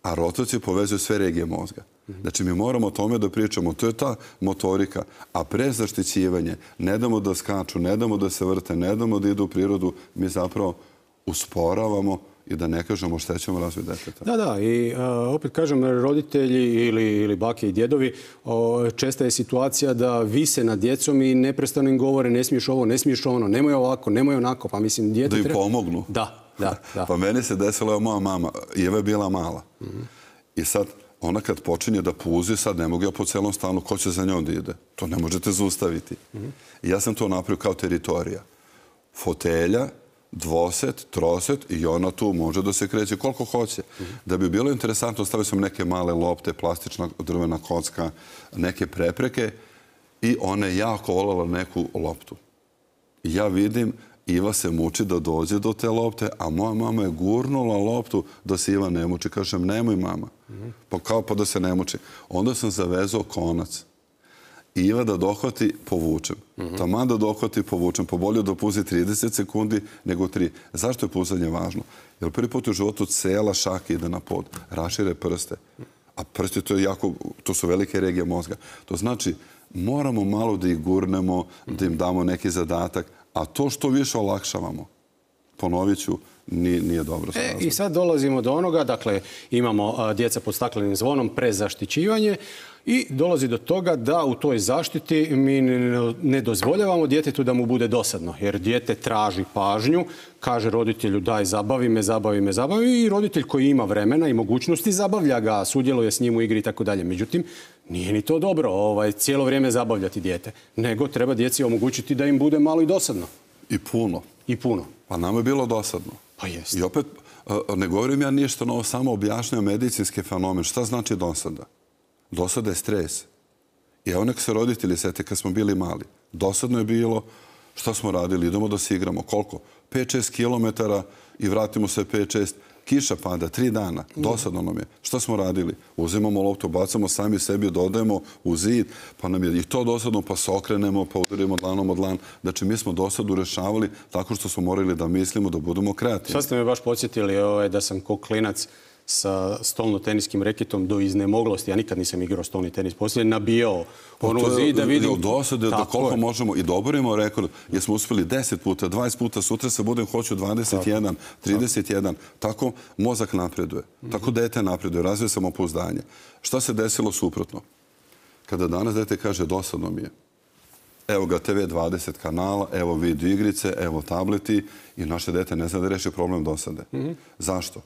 a rotacija povezuje sve regije mozga. Znači, mi moramo o tome da pričamo. To je ta motorika. A pre zaštićivanje, ne damo da skaču, ne damo da se vrte, ne damo da idu u prirodu, mi zapravo usporavamo i da ne kažemo štećemo razvoj deteta. Da, i opet kažem, roditelji ili bake i djedovi, česta je situacija da vise nad djecom i neprestano im govore ne smiješ ovo, ne smiješ ono, nemoj ovako, nemoj onako. Pa mislim, da im pomognu. Da. Pa meni se desilo, evo moja mama, Eva je bila mala. I sad, ona kad počinje da puzi, sad ne mogu ja po celom stanu, ko će za njom da ide? To ne možete zaustaviti. I ja sam to napravio kao teritorija. Fotelja, dvoset, troset i ona tu može da se kreće koliko hoće. Da bi bilo interesantno, stavio sam neke male lopte, plastična drvena kocka, neke prepreke i ona je jako voljela neku loptu. I ja vidim, Iva se muči da dođe do te lopte, a moja mama je gurnula loptu da se Iva ne muči. Kažem, nemoj mama. Pa kao pa da se ne muči. Onda sam zavezao konac. Iva da dohvati, povučem. Taman da dohvati, povučem. Pa bolje da puzi 30 sekundi nego 3. Zašto je puzanje važno? Jer prvi put u životu cela šaka ide na pod. Rašire prste. A prsti to su velike regije mozga. To znači, moramo malo da ih gurnemo, da im damo neki zadatak, a to što više olakšavamo, ponovit ću, nije dobro. I sad dolazimo do onoga, dakle, imamo djeca pod staklenim zvonom, prezaštićivanje i dolazi do toga da u toj zaštiti mi ne dozvoljavamo djetetu da mu bude dosadno, jer dijete traži pažnju, kaže roditelju daj zabavi me i roditelj koji ima vremena i mogućnosti zabavlja ga, sudjeluje s njim u igri i tako dalje. Međutim, nije ni to dobro cijelo vrijeme zabavljati dijete, nego treba djeci omogućiti da im bude malo i dosadno. I puno. I puno. Pa nama je bilo dosadno. Pa jest. I opet, ne govorim ja ništa novo, samo objašnjam medicinski fenomen. Šta znači dosada? Dosada je stres. I evo nek se roditelji sete kad smo bili mali. Dosadno je bilo, šta smo radili? Idemo da se igramo. Koliko? 5-6 kilometara i vratimo se 5-6. Kiša pada, 3 dana. Dosadno nam je. Šta smo radili? Uzimamo loptu, bacamo sami sebi, dodajemo u zid, pa nam je i to dosadno, pa se okrenemo, pa udarimo dlanom od dlan. Znači, mi smo dosadu rešavali tako što smo morali da mislimo, da budemo kreativni. Sad ste me baš podsjetili da sam ko klinac sa stolno-teniskim reketom do iznemoglosti, ja nikad nisam igrao stolni tenis, poslije nabijao ono zid da vidim... Dosade da koliko možemo i doborimo rekord, jer smo uspjeli 10 puta, 20 puta, sutra se budem hoću 21, 31. Tako mozak napreduje, tako dete napreduje, razvije samopouzdanje. Šta se desilo suprotno? Kada danas dete kaže dosadno mi je, evo ga TV 20 kanala, evo video igrice, evo tableti i naše dete ne zna da reši problem dosade. Zašto?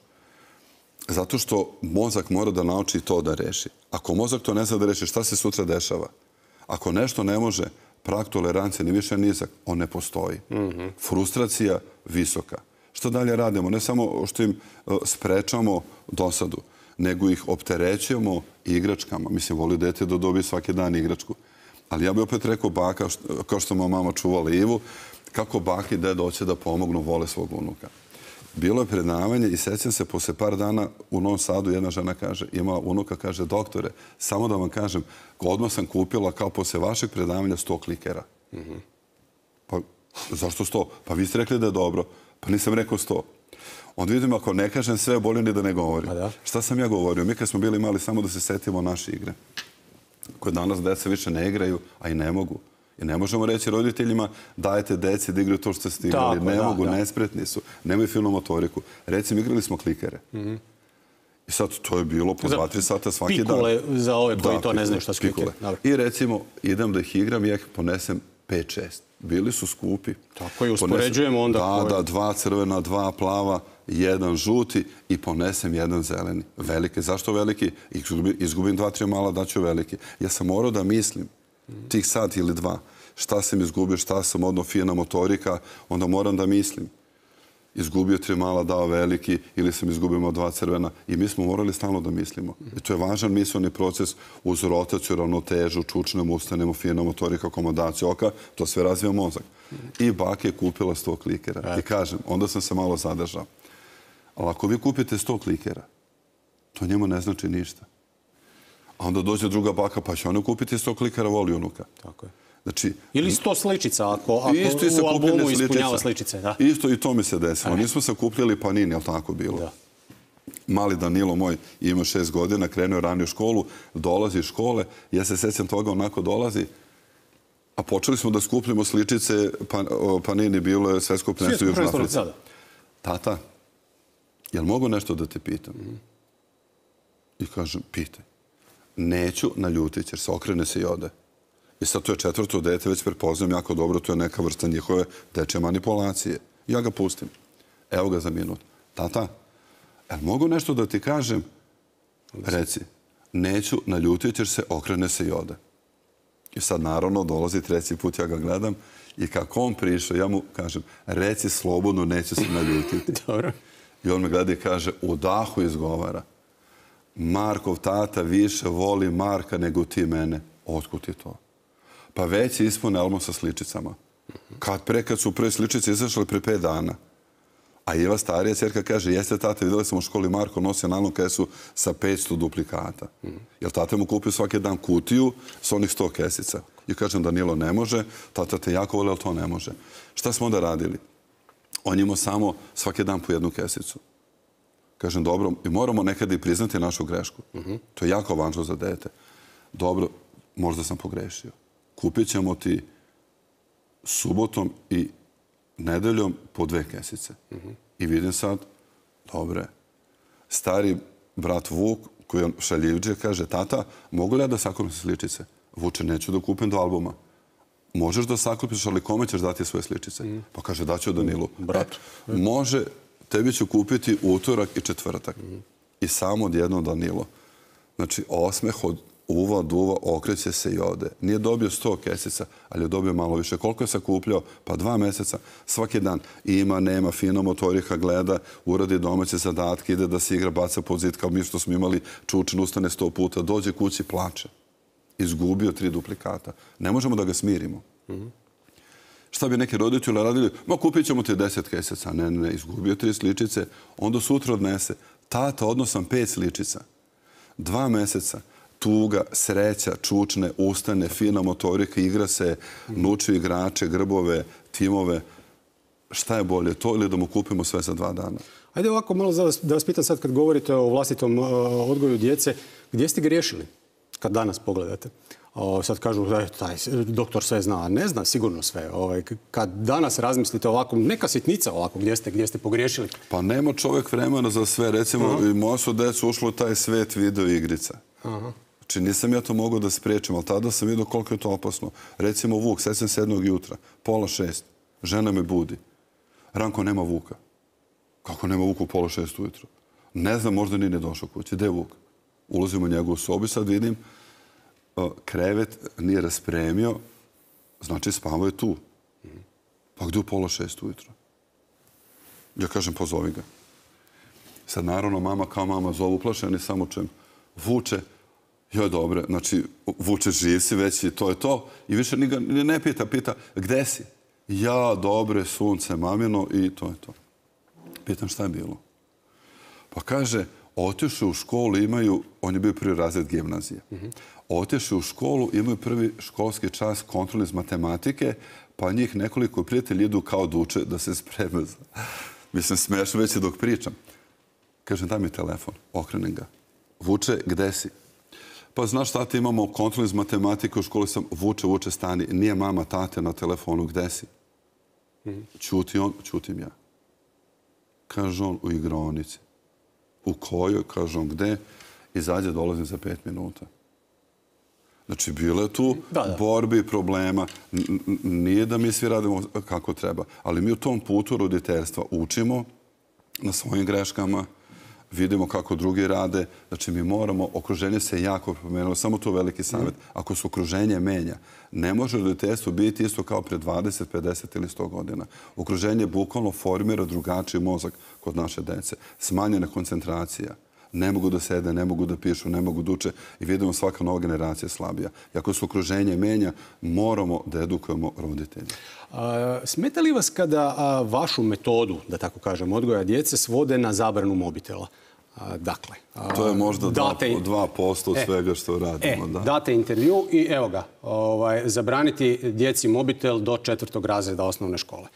Zato što mozak mora da nauči to da reši. Ako mozak to ne zna da reši, šta se sutra dešava? Ako nešto ne može, prag tolerancije ni više nizak, on ne postoji. Frustracija visoka. Što dalje radimo? Ne samo što im sprečamo dosadu, nego ih opterećujemo igračkama. Mislim, voli dete da dobije svaki dan igračku. Ali ja bih opet rekao baka, kao što moja mama čuvala Ivu, kako baki i deda hoće da pomognu, vole svog unuka. Bilo je predavanje i sećam se, posle par dana u Novom Sadu jedna žena kaže, ima unuka, kaže, doktore, samo da vam kažem, odmah sam kupila kao posle vašeg predavanja 100 klikera. Pa zašto 100? Pa vi ste rekli da je dobro. Pa nisam rekao 100. Onda vidim, ako ne kažem sve, bolje ni da ne govorim. Šta sam ja govorio? Mi kad smo bili mali, samo da se setimo naše igre, koje danas deca više ne igraju, a i ne mogu. I ne možemo reći roditeljima dajte deci da igraju to što ste igrali. Ne mogu, nespretni su. Nemaju filnu motoriku. Recimo, igrali smo klikere. I sad to je bilo po 2-3 sata svaki dan. Pikule za ove koji to ne znaju šta su klikere. I recimo, idem da ih igram i ja ih ponesem 5-6. Bili su skupi. Tako i uspoređujemo onda. Da, 2 crvena, 2 plava, 1 žuti i ponesem 1 zeleni. Velike. Zašto veliki? Izgubim 2-3 mala, daću veliki. Ja sam morao da mislim tih sat ili 2. Šta sam izgubio, šta sam odno fina motorika, onda moram da mislim. Izgubio 3 mala, dao veliki ili sam izgubio 2 crvena. I mi smo morali stalno da mislimo. I to je važan misleni proces uz rotaciju, ravnotežu, čučnemo, ustanemo, fina motorika, akomodaciju oka. To sve razvija mozak. I baka je kupila 100 klikera. I kažem, onda sam se malo zadržao. Ali ako vi kupite 100 klikera, to njemu ne znači ništa. A onda dođe druga baka, pa će ona kupiti 100 klikera, voli unuka. Tako je. Znači, ili 100 sličica, ako u albumu ispunjava sličice. Isto i to mi se desilo. Nismo se kupljali Panini, ali tako bilo. Mali Danilo moj ima 6 godina, krenuo ranije u školu, dolazi iz škole, ja se sećam toga, onako dolazi, a počeli smo da skupljamo sličice, Panini bilo je svetsko prvenstvo u Južnoj Africi. Tata, jel mogu nešto da te pitam? I kažem, pitaj. Neću, naljutit će, jer se okrene se i ode. I sad to je 4. dete, već prepoznam jako dobro, to je neka vrsta njihove dečje manipulacije. Ja ga pustim. Evo ga za minut. Tata, mogu nešto da ti kažem? Reci, neću, naljutit ćeš se, okrene se i ode. I sad naravno dolazi treći put, ja ga gledam i kako on prišao, ja mu kažem, reci slobodno, neću se naljutiti. Dobro. I on me gleda i kaže, u dahu izgovara, Markov tata više voli Marka nego ti mene. Otkud ti to? Pa već je ispune album sa sličicama. Kad su prve sličice izašle pre 5 dana. A Iva starija ćerka kaže, jeste tata, vidjeli smo u školi Marko nosi nalnu kesu sa 500 duplikata. Jer tata mu kupio svaki dan kutiju s onih 100 kesica. I kažem, Danilo, ne može, tata te jako voli, ali to ne može. Šta smo onda radili? On imao samo svaki dan po 1 kesicu. Kažem, dobro, i moramo nekada i priznati našu grešku. To je jako važno za dete. Dobro, možda sam pogrešio. Kupit ćemo ti subotom i nedeljom po 2 kesice. I vidim sad, dobre, stari brat Vuk, koji je šaljivđe, kaže, tata, mogu li ja da sakupim sličice? Vuče, neću da kupim 2 albuma. Možeš da sakupiš, ali kome ćeš dati svoje sličice? Pa kaže, daću Danilu. Može, tebi ću kupiti utorak i četvrtak. I samo odjedno Danilo. Znači, osmeh od uva, duva, okreće se i ode. Nije dobio 100 kesica, ali je dobio malo više. Koliko je sakupljao? Pa 2 meseca. Svaki dan ima, nema, fino motorika, gleda, uradi domaće zadatke, ide da se igra, baca pod zid, kao mi što smo imali čučen, ustane 100 puta, dođe kući, plače. Izgubio 3 duplikata. Ne možemo da ga smirimo. Šta bi neki roditelji radili? Ma kupit ćemo ti 10 kesica. Ne, izgubio 3 sličice. Onda sutra odnese. Tata, odnosam 5 sličica. 2 meseca. Tuga, sreća, čučne, ustane, fina motorika, igra se, nuči igrače, grbove, timove. Šta je bolje, to ili da mu kupimo sve za 2 dana? Ajde ovako malo da vas pitam sad kad govorite o vlastitom odgoju djece. Gdje ste griješili kad danas pogledate? Sad kažu da je taj doktor sve zna, a ne zna sigurno sve. Kad danas razmislite ovako, neka sitnica ovako, gdje ste pogriješili? Pa nema čovjek vremena za sve. Recimo, i moja su decu ušlo u taj svet video igrica. Znači, nisam ja to mogao da spriječim, ali tada sam vidio koliko je to opasno. Recimo, Vuk, sećam se 7 jutra, 5:30, žena me budi. Ranko, nema Vuka. Kako nema Vuka u 5:30 ujutro? Ne znam, možda nije došao kući. Gde je Vuk? Ulazim u njegovu sobu i sad vidim, krevet nije raspremio, znači spavao je tu. Pa gdje u 5:30 ujutro? Ja kažem, pozovi ga. Sad naravno mama kao mama zove uplašeni, samo čem Vuče, joj dobre, znači Vuče živ si već i to je to. I više ni ne pita, gde si? Ja, dobre, sunce, mamino i to je to. Pitam šta je bilo? Pa kaže, otišli u školu, imaju, on je bio 1. razred gimnazije. Otišli u školu, imaju 1. školski čas kontrolni iz matematike, pa njih nekoliko prijatelji idu kao da uče da se spreme. Mislim, smiješno već dok pričam. Kažem, daj mi telefon, okrenem ga. Vuče, gde si? Pa znaš, tata, imamo kontrol iz matematike, u školi sam, Vuče, stani. Nije mama, tate na telefonu, gde si? Ćuti on, ćutim ja. Kaže on, u igraonici. U kojoj? Kaže on, gde? Izađe, dolazim za 5 minuta. Znači, bilo je tu borbi i problema. Nije da mi svi radimo kako treba, ali mi u tom putu roditeljstva učimo na svojim greškama, vidimo kako drugi rade. Znači, mi moramo, okruženje se jako promenilo, samo to veliki savjet. Ako se okruženje menja, ne može roditeljstvo biti isto kao pre 20, 50 ili 100 godina. Okruženje bukvalno formira drugačiji mozak kod naše dece. Smanjena koncentracija. Ne mogu da sede, ne mogu da pišu, ne mogu da uče i vidimo svaka nova generacija slabija. I ako se okruženje menja, moramo da edukujemo roditelje. Smeta li vas kada vašu metodu, da tako kažem, odgoja djece svode na zabranu mobitela? Dakle, to je možda 2% od svega što radimo. Date intervju i evo ga, zabraniti djeci mobitel do 4. razreda osnovne škole.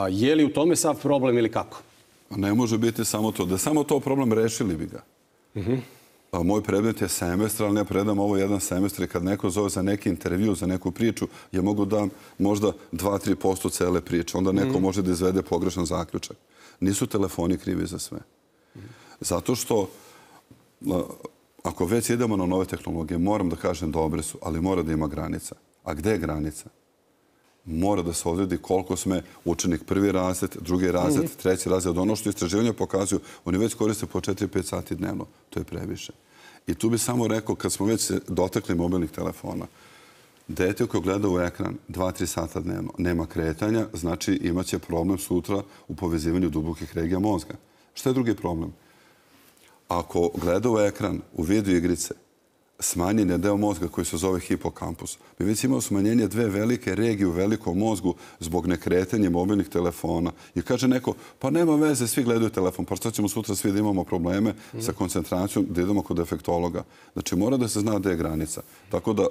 Je li u tome sav problem ili kako? Ne može biti samo to. Da je samo to problem, rešili bi ga. Moj predmet je semestar, ali ja predam ovo 1 semestar i kad neko zove za neki intervju, za neku priču, ja mogu da možda 2-3% cele priče. Onda neko može da izvede pogrešan zaključak. Nisu telefoni krivi za sve. Zato što ako već idemo na nove tehnologije, moram da kažem dobre su, ali mora da ima granica. A gde je granica? mora da se odredi koliko sme učenik prvi razred, drugi razred, treći razred. Ono što istraživanja pokazuju, oni već koriste po 4-5 sati dnevno. To je previše. I tu bih samo rekao, kad smo već se dotakli mobilnih telefona, dete koje gleda u ekran 2-3 sata dnevno, nema kretanja, znači imaće problem sutra u povezivanju dubokih regija mozga. Šta je drugi problem? Ako gleda u ekran, u video igrice, smanjen je deo mozga koji se zove hipokampus. Mi već imamo smanjenje 2 velike regije u velikom mozgu zbog nekretanja mobilnih telefona. I kaže neko, pa nema veze, svi gledaju telefon, pa šta ćemo sutra svi da imamo probleme sa koncentracijom, da idemo kod defektologa. Znači mora da se zna gde je granica. Tako da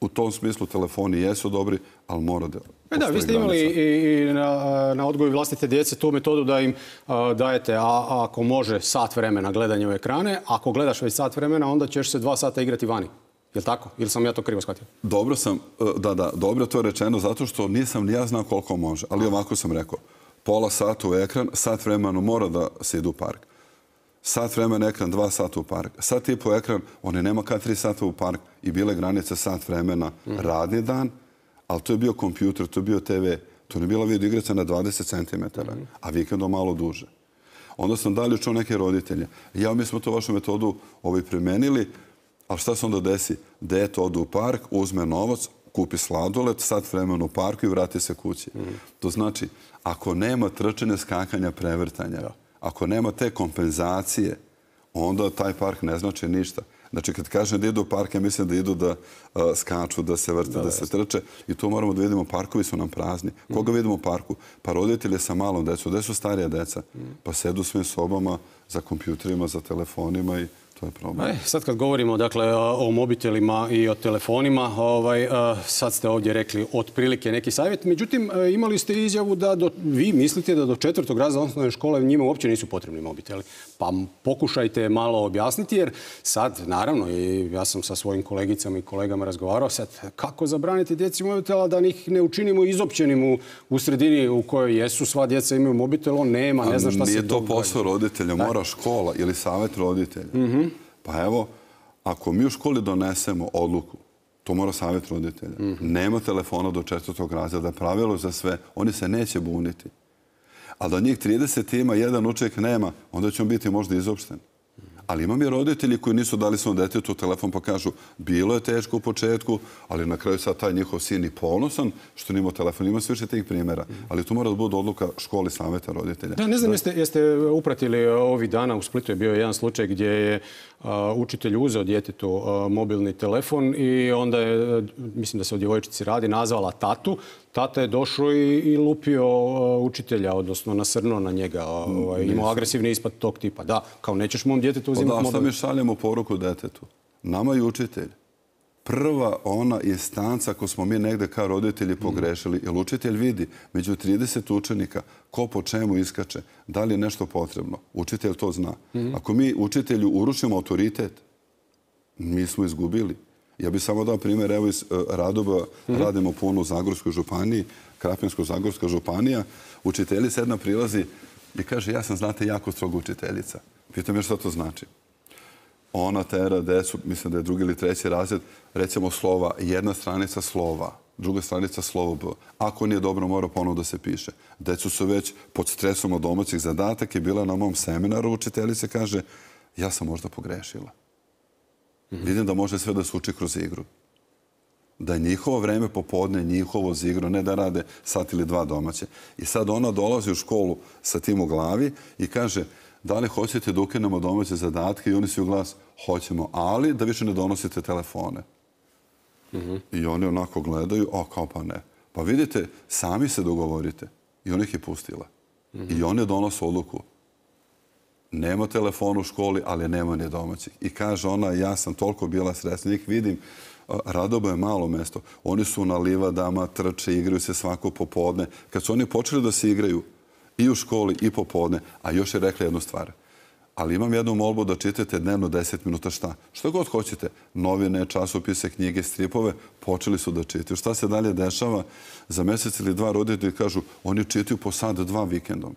u tom smislu telefoni jesu dobri, ali mora da postoji granica. Vi ste imali i na odgoju vlastite djece tu metodu da im dajete, ako može, sat vremena gledanja u ekrane. Ako gledaš već sat vremena, onda ćeš se 2 sata igrati vani. Je li tako? Ili sam ja to krivo shvatio? Dobro sam, dobro to je rečeno, zato što nisam ni ja znao koliko može. Ali ovako sam rekao, pola sata u ekran, sat vremena mora da se ide u park. Sat vremena ekran, 2 sata u park. Sat i po ekran, oni nema kad 3 sata u park i bile granice sat vremena radni dan, ali to je bio kompjuter, to je bio TV, to je bila video igrica na 20 cm, a vikendom malo duže. Onda sam dalje čuo neke roditelje. Mi smo to vašu metodu primenili, ali šta se onda desi? Dete ode u park, uzme novac, kupi sladoled, sat vremena u parku i vrati se kući. To znači, ako nema trčanja, skakanja, prevrtanja, ako nema te kompenzacije, onda taj park ne znači ništa. Znači, kad kažem da idu u park, ja mislim da idu da skaču, da se vrte, da se trče. I tu moramo da vidimo, parkovi su nam prazni. Koga vidimo u parku? Pa roditelji sa malom decom. Gde su starija deca? Pa sedu u svim sobama za kompjuterima, za telefonima i to je problem. Sad kad govorimo dakle, o mobitelima i o telefonima, sad ste ovdje rekli otprilike neki savjet. Međutim, imali ste izjavu da vi mislite da do 4. razreda osnovne škole njima uopće nisu potrebni mobiteli. Pa pokušajte malo objasniti, jer sad, naravno, i ja sam sa svojim kolegicama i kolegama razgovarao, sad kako zabraniti djeci mobitela da ih ne učinimo izopćenim u sredini u kojoj jesu, sva djeca imaju mobitel, on nema, ne zna šta se događa. Nije to posao roditelja, mora škola ili savjet roditelja. Pa evo, ako mi u školi donesemo odluku, to mora savjet roditelja. Nema telefona do 4. razreda, pravilo za sve, oni se neće buniti. A da njih 30 ima, jedan učenik nema, onda će on biti možda izopšten. Ali imam i roditelji koji nisu dali svom detetu telefon pa kažu bilo je teško u početku, ali na kraju sad taj njihov sin i ponosan što nije imao telefon. Ima sve više tih primjera. Ali tu mora da bude odluka školi savjeta roditelja. Da, ne znam jeste upratili ovih dana, u Splitu je bio jedan slučaj gdje je učitelj uzeo djetetu mobilni telefon i onda je, mislim da se o djevojčici radi, nazvala tatu. Tata je došao i lupio učitelja, odnosno nasrnuo na njega. Imao agresivni ispad tog tipa. Da, kao nećeš mom djetetu uzimati mobil. Sad mi šaljemo poruku detetu. Nama je učitelj prva ona instanca ako smo mi negde kao roditelji pogrešili. Jer učitelj vidi među 30 učenika ko po čemu iskače, da li je nešto potrebno. Učitelj to zna. Ako mi učitelju urušimo autoritet, mi smo izgubili. Ja bih samo dao primjer, evo iz Radoba radimo puno u Zagorskoj županiji, Krapinsko-Zagorska županija. Učiteljica jedna prilazi i kaže, ja sam, znate, jako stroga učiteljica. Pitam je šta to znači. Ona tera decu, mislim da je 2. ili 3. razred, recimo slova, jedna stranica slova, druga stranica slovo B. Ako nije dobro, mora ponovno da se piše. Decu su već pod stresom od domaćih zadataka i bila na mom seminaru, učiteljica kaže, ja sam možda pogrešila. Vidim da može sve da se uči kroz igru. Da je njihovo vreme popodne, njihovo za igru, ne da rade sat ili 2 domaće. I sad ona dolazi u školu sa tim u glavi i kaže, da li hoćete da ukinemo domaće zadatke? I oni svi u glas, hoćemo, ali da više ne donosite telefone. I oni onako gledaju, kao pa ne. Pa vidite, sami se dogovorite. I on ih je pustila. I oni donose odluku. Nema telefona u školi, ali nema ni domaćih. I kaže ona, ja sam toliko bila sretna, njih vidim, Radobo je malo mesto. Oni su na livadama, trče, igraju se svako popodne. Kad su oni počeli da se igraju i u školi i popodne, a još je rekla jednu stvar. Ali imam jednu molbu da čitate dnevno 10 minuta šta. Što god hoćete. Novine, časopise, knjige, stripove, počeli su da čitaju. Šta se dalje dešava? Za mjesec ili 2 roditelji kažu, oni čitaju po sat 2 vikendom.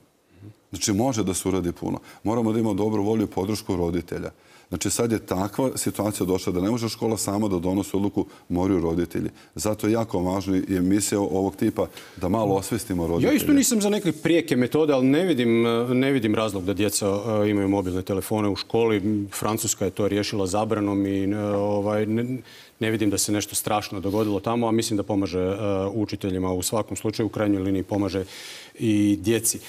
Znači, može da se uradi puno. Moramo da imamo dobru volju i podršku roditelja. Znači sad je takva situacija došla da ne može škola sama da donosi odluku, moraju roditelji. Zato je jako važno i emisija ovog tipa da malo osvestimo roditelje. Ja isto nisam za neke prijeke metode, ali ne vidim razlog da djeca imaju mobilne telefone u školi. Francuska je to riješila zabranom i ne vidim da se nešto strašno dogodilo tamo, a mislim da pomaže učiteljima u svakom slučaju, u krajnjoj liniji pomaže i djeci.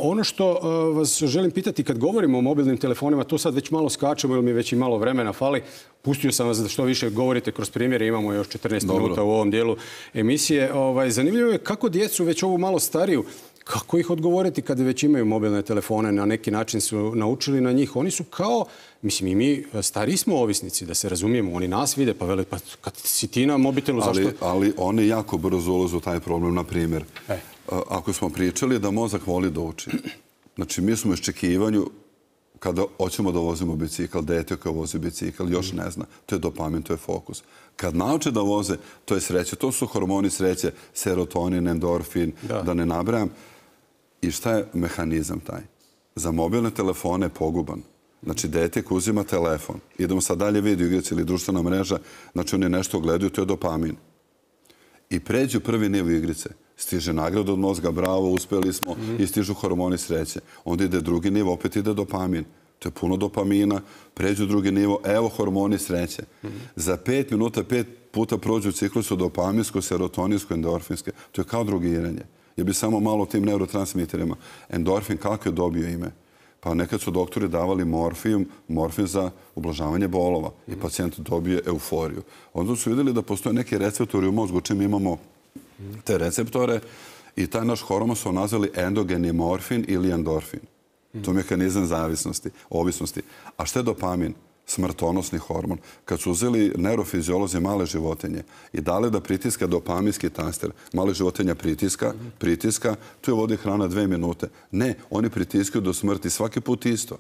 Ono što vas želim pitati, kad govorimo o mobilnim telefonima, to sad već malo skačemo ili mi već i malo vremena fali. Pustio sam vas da što više govorite kroz primjere, imamo još 14 minuta u ovom dijelu emisije. Zanimljivo je kako djecu, već ovu malo stariju, kako ih odgovoriti kada već imaju mobilne telefone, na neki način su naučili na njih. Oni su kao, mislim i mi stariji smo ovisnici, da se razumijemo, oni nas vide, pa vele, pa kad si ti na mobitelu, zašto? Ali oni jako brzo ulaze u taj problem, na primjer. Ako smo pričali da mozak voli da uči, znači mi smo u iščekivanju kada hoćemo da vozimo bicikl, dete koje vozi bicikl još ne zna. To je dopamin, to je fokus. Kad nauče da voze, to je sreće. To su hormoni sreće, serotonin, endorfin, da ne nabrajam. I šta je mehanizam taj? Za mobilne telefone je poguban. Znači, dete koji uzima telefon, idemo sad dalje video igrice ili društvena mreža, znači oni nešto gledaju, to je dopamin. I pređu prvi nivo igrice. Stiže nagrada od mozga, bravo, uspjeli smo, i stižu hormoni sreće. Onda ide drugi nivo, opet ide dopamin. To je puno dopamina, pređu drugi nivo, evo hormoni sreće. Za 5 minuta, 5 puta prođu ciklusu dopaminsko, serotoninsko, endorfinske. To je kao drogiranje. Ja bih samo malo o tim neurotransmiterima. Endorfin, kako je dobio ime? Pa nekad su doktori davali morfin za ublažavanje bolova i pacijent dobije euforiju. Onda su vidjeli da postoje neki receptori u mozgu čim imamo te receptore i taj naš hormon su nazvali endogeni morfin ili endorfin. To je mehanizam zavisnosti, ovisnosti. A šta je dopamin? Smrtonosni hormon. Kad su uzeli neurofiziolozi male životinje i dali da pritiska dopaminski taster, male životinja pritiska, tu je vodi hrana 2 minute. Ne, oni pritiskaju do smrti svaki put isto.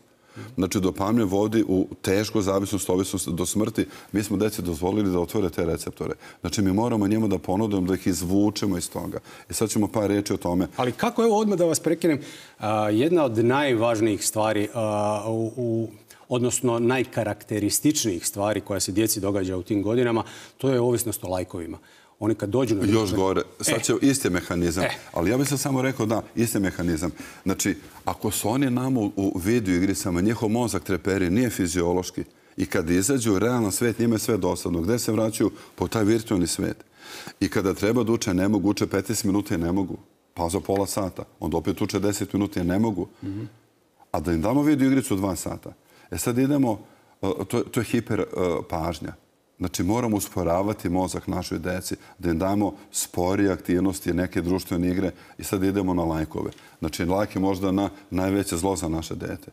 Znači, dopamin vodi u tešku zavisnost, ovisnost do smrti. Mi smo deci dozvolili da otvore te receptore. Znači, mi moramo njemu da ponudimo, da ih izvučemo iz toga. I sad ćemo par reći o tome. Ali kako, evo odmah da vas prekinem, jedna od najvažnijih stvari odnosno najkarakterističnijih stvari koja se djeci događa u tim godinama, to je ovisnost o lajkovima. Oni kad dođu na... Još gore. Sad će isti mehanizam. Ali ja bih se samo rekao da, isti mehanizam. Znači, ako su oni nama u video igricama, njihov mozak treperi, nije fiziološki. I kad izađu u realan svet, njima je sve dosadno. Gde se vraćaju? Po taj virtualni svet. I kada treba da uče, ne mogu. Uče 15 minuta i ne mogu. Pauza pola sata. Onda opet uče 10 minuta i ne mogu. A da im damo video igricu 2 sata. Sad idemo, to je hiper pažnja. Znači, moramo usporavati mozak našoj deci, da im damo sporije aktivnosti, neke društvene igre i sad idemo na lajkove. Znači, lajk je možda najveće zlo za naše dete.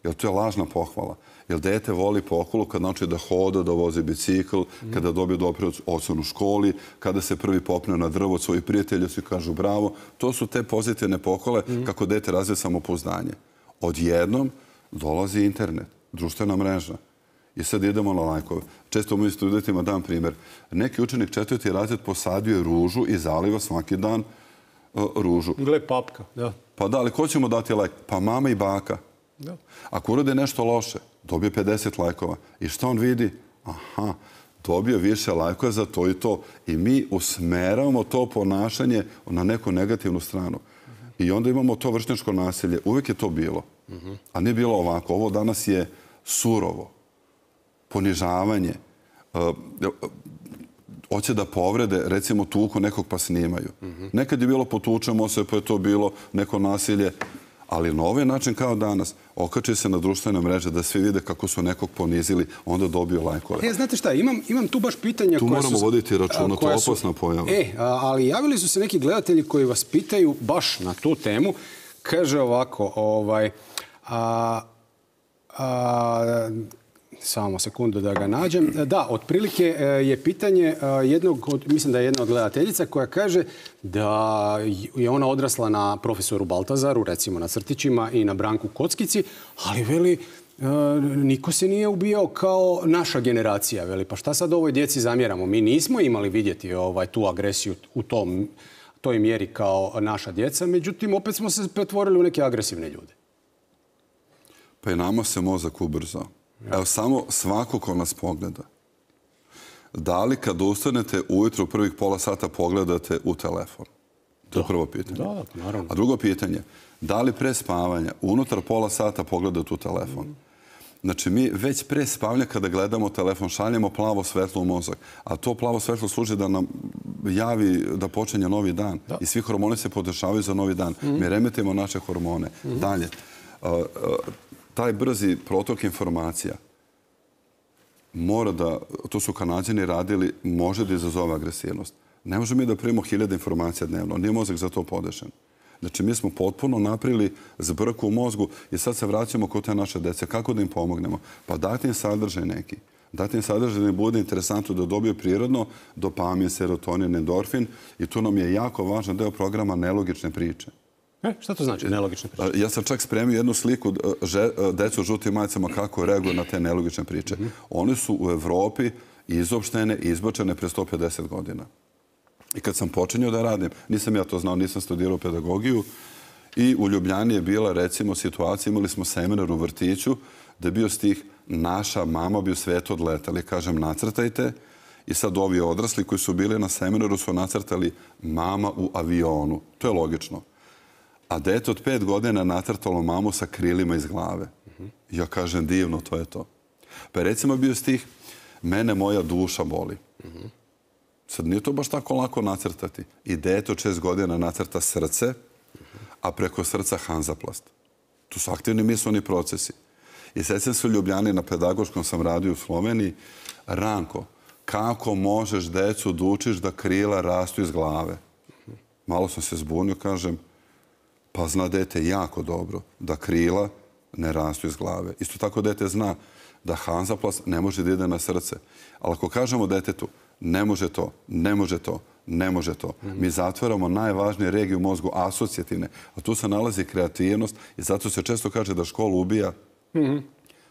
Jer to je lažna pohvala. Jer dete voli pohvalu kad nauči da hoda, da vozi bicikl, kada dobije dobru ocenu u školi, kada se prvi popne na drvo od svojih prijatelja, svi kažu bravo. To su te pozitivne pohvale kako dete razvije samopouzdanje. Odjednom dolazi internet, društvena mreža. I sad idemo na lajkove. Često mojim studentima dam primjer. Neki učenik 4. razred posadio je ružu i zaliva svaki dan ružu. Gle papka, da. Pa da, ali ko će mu dati lajk? Pa mama i baka. Ako urade nešto loše, dobije 50 lajkova. I što on vidi? Aha, dobio više lajkova za to i to. I mi usmeravamo to ponašanje na neku negativnu stranu. I onda imamo to vršnjačko nasilje. Uvijek je to bilo. A nije bilo ovako. Ovo danas je surovo. Ponižavanje. Hoće da povrede, recimo tuku nekog pa snimaju. Nekad je bilo potučemo se, pa je to bilo neko nasilje. Ali na ovaj način kao danas okači se na društvene mreže da svi vide kako su nekog ponizili, onda dobiju lajkove. Znate šta, imam tu baš pitanja tu moramo voditi računa, to je opasna pojava. Ali javili su se neki gledatelji koji vas pitaju baš na tu temu. Kaže ovako, samo sekundu da ga nađem. Da, otprilike je pitanje mislim da je jedna od gledateljica koja kaže da je ona odrasla na profesoru Baltazaru, recimo na crtićima i na Branku Kockici, ali veli, niko se nije ubijao kao naša generacija. Veli, pa šta sad ovoj djeci zamjeramo? Mi nismo imali vidjeti tu agresiju u toj mjeri kao naša djeca, međutim, opet smo se pretvorili u neke agresivne ljude. Pa i nama se mozak ubrzao. Evo, samo svako ko nas pogleda. Da li kad ustanete ujutro prvih pola sata pogledate u telefon? To je prvo pitanje. Da, naravno. A drugo pitanje, da li pre spavanja unutar pola sata pogledate u telefon? Znači, mi već pre spavanja kada gledamo telefon šaljemo plavo svetlo u mozak. A to plavo svetlo služi da nam javi da počinje novi dan. I svi hormoni se podešavaju za novi dan. Mi remetimo naše hormone. Dalje, taj brzi protok informacija mora da, to su Kanađani radili, može da izazove agresivnost. Ne možemo mi da primimo 1000 informacija dnevno. Nije mozak za to podešen. Znači, mi smo potpuno napravili zbrku u mozgu i sad se vraćamo kod te naše dece. Kako da im pomognemo? Pa dati im sadržaj neki. Dati im sadržaj da im bude interesantno da dobiju prirodno dopamin, serotonin, endorfin i tu nam je jako važan deo programa nelogične priče. Šta to znači nelogične priče? Ja sam čak spremio jednu sliku decu u žutim majicama kako reaguju na te nelogične priče. One su u Evropi izopštene i izbačene pre 150 godina. I kad sam počinio da radim, nisam ja to znao, nisam studirao pedagogiju i u Ljubljani je bila, recimo, situacija, imali smo seminar u vrtiću da je bio stih naša mama bi u svijetu odletali. Kažem, nacrtajte i sad ovi odrasli koji su bili na seminaru su nacrtali mama u avionu. To je logično. A dete od 5 godina nacrtalo mamu sa krilima iz glave. Ja kažem, divno, to je to. Pa je recimo bio stih mene moja duša boli. Sad nije to baš tako lako nacrtati. I dete od 6 godina nacrta srce, a preko srca Hanzaplast. Tu su aktivni misleni procesi. I sećam se u Ljubljani, na pedagoškom sam radio u Sloveniji. Ranko, kako možeš decu da učiš da krila rastu iz glave? Malo sam se zbunio, kažem, pa zna dete jako dobro da krila ne rastu iz glave. Isto tako dete zna da Hanzaplast ne može da ide na srce. Ali ako kažemo detetu, ne može to, ne može to, ne može to. Mi zatvaramo najvažnije regije u mozgu, asocijativne. A tu se nalazi kreativnost i zato se često kaže da škola ubija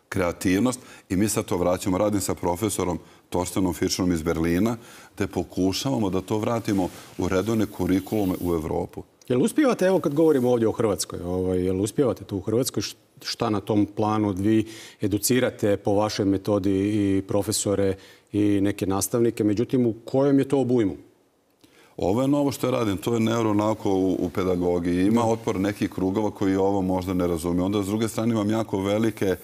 kreativnost i mi sad to vraćamo. Radim sa profesorom Torstenom Fischnerom iz Berlina, te pokušavamo da to vratimo u redovne kurikulume u Evropu. Jel uspijevate, evo kad govorimo ovdje o Hrvatskoj, jel uspijevate tu u Hrvatskoj, šta na tom planu vi educirate po vašoj metodi i profesore i neke nastavnike, međutim u kojem je to obujmu? Ovo je novo što radim, to je neuronauka u pedagogiji. Ima otpor nekih krugova koji ovo možda ne razumiju. Onda s druge strane imam jako velike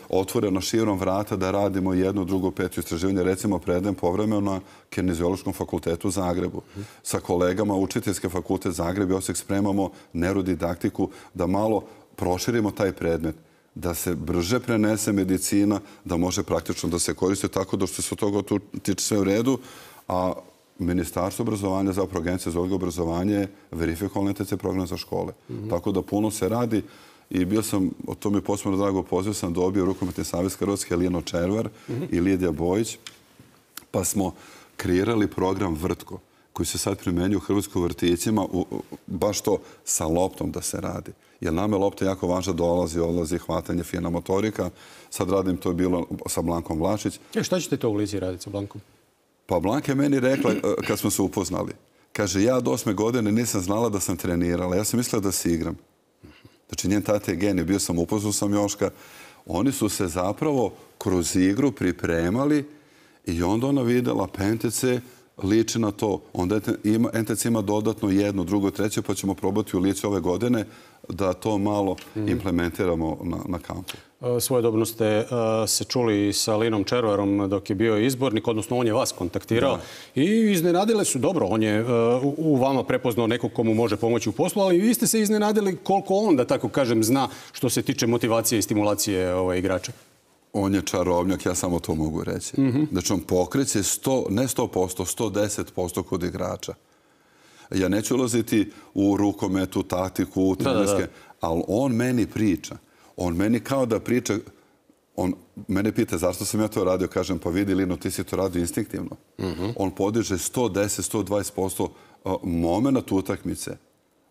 otvoreno širom vrata da radimo jedno, drugo, peto istraživanje. Recimo, predajem povremeno na Kineziološkom fakultetu u Zagrebu. Sa kolegama Učiteljske fakultet Zagreb i Osijek spremamo neurodidaktiku da malo proširimo taj predmet, da se brže prenese medicina, da može praktično da se koriste tako da što se od toga tiče sve u redu, a Ministarstvo obrazovanja, zapravo Agencija za odgoj i obrazovanje, verifikovala NTC program za škole. Tako da puno se radi i bio sam, o tome posebno drago poziv, sam dobio Rukometni savez Hrvatske Lijeno Červar i Lidija Bojić, pa smo kreirali program Vrtko, koji se sad primenjuje u hrvatskim vrtićima, baš to sa loptom da se radi. Jer nam je lopta jako važna, dolazi, odlazi, hvatanje, fina motorika. Sad radim, to je bilo sa Blankom Vlašić. Šta ćete to u Lizi raditi sa Blankom? Pa Blanka je meni rekla, kad smo se upoznali, kaže, ja do 8. godine nisam znala da sam trenirala. Ja sam mislila da se igram. Znači, njen tata je genij, bio sam upoznao sam Joška. Oni su se zapravo kroz igru pripremali i onda ona vidjela, pa NTC liči na to. Onda NTC ima dodatno 1, 2, 3, pa ćemo probati u Lici ove godine da to malo implementiramo na kampu. Svojedobno ste se čuli sa Linom Červarom dok je bio izbornik, odnosno on je vas kontaktirao i iznenadile su, dobro, on je u vama prepoznao nekog komu može pomoći u poslu, ali vi ste se iznenadili koliko on, da tako kažem, zna što se tiče motivacije i stimulacije igrača. On je čarobnjak, ja samo to mogu reći. Znači, on pokreće ne 100%, 110% kod igrača. Ja neću ulaziti u rukometu, taktiku, u trenerske, ali on meni priča. On meni kao da priča, on mene pita zašto sam ja to radio, kažem pa vidi Lino, ti si to radio instinktivno. On podiže 110, 120% moment utakmice.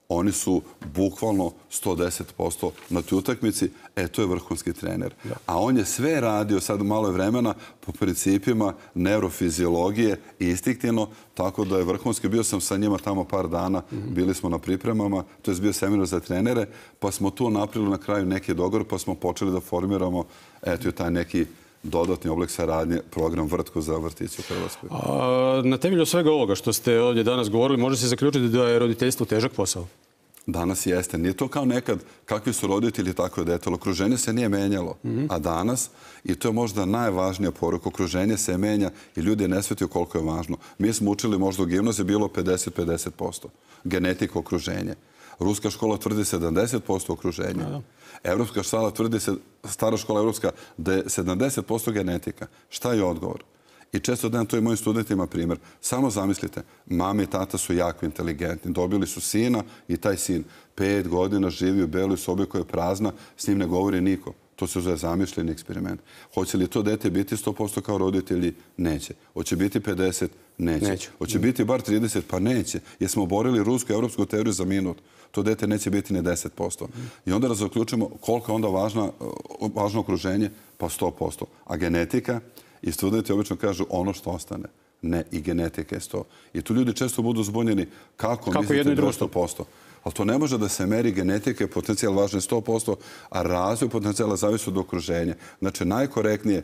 Oni su bukvalno 110% na toj utakmici. To je vrhunski trener. A on je sve radio, sad malo je vremena, po principima neurofiziologije i instinktivno, tako da je vrhunski. Bio sam sa njima tamo par dana, bili smo na pripremama, to je bio seminar za trenere, pa smo tu napravili na kraju neki dogovor, pa smo počeli da formiramo taj neki dodatni oblik saradnje, program Vrtko za vrtiće u Hrvatskoj. Na temelju svega ovoga što ste ovdje danas govorili, može se zaključiti da je roditeljstvo težak posao? Danas jeste. Nije to kao nekad kakvi su roditelji, tako je dete. Okruženje se nije menjalo. A danas, i to je možda najvažnija poruka, okruženje se menja i ljudi ne shvataju koliko je važno. Mi smo učili možda u gimnaziji bilo 50-50%. Genetika okruženje. Ruska škola tvrdi 70% okruženja. Evropska škola tvrdi, stara škola evropska, da je 70% genetika. Šta je odgovor? I često dajem to i mojim studentima primjer. Samo zamislite, mama i tata su jako inteligentni. Dobili su sina i taj sin 5 godina živi u beloj sobi koja je prazna, s njim ne govori niko. To se zove zamišljeni eksperiment. Hoće li to dete biti 100% kao roditelji? Neće. Hoće biti 50? Neće. Hoće biti bar 30? Pa neće. Jer smo oborili rusku i evropsku teoriju za minut. To dete neće biti ni 10%. I onda zaključimo koliko je onda važno okruženje? Pa 100%. A genetika? I studenti obično kažu ono što ostane. Ne, i genetika je 100. I tu ljudi često budu zbunjeni kako mislite da je 100%. Ali to ne može da se meri genetika, potencijal važan je 100%, a razvoj potencijala zavisi od okruženja. Znači, najkorektnije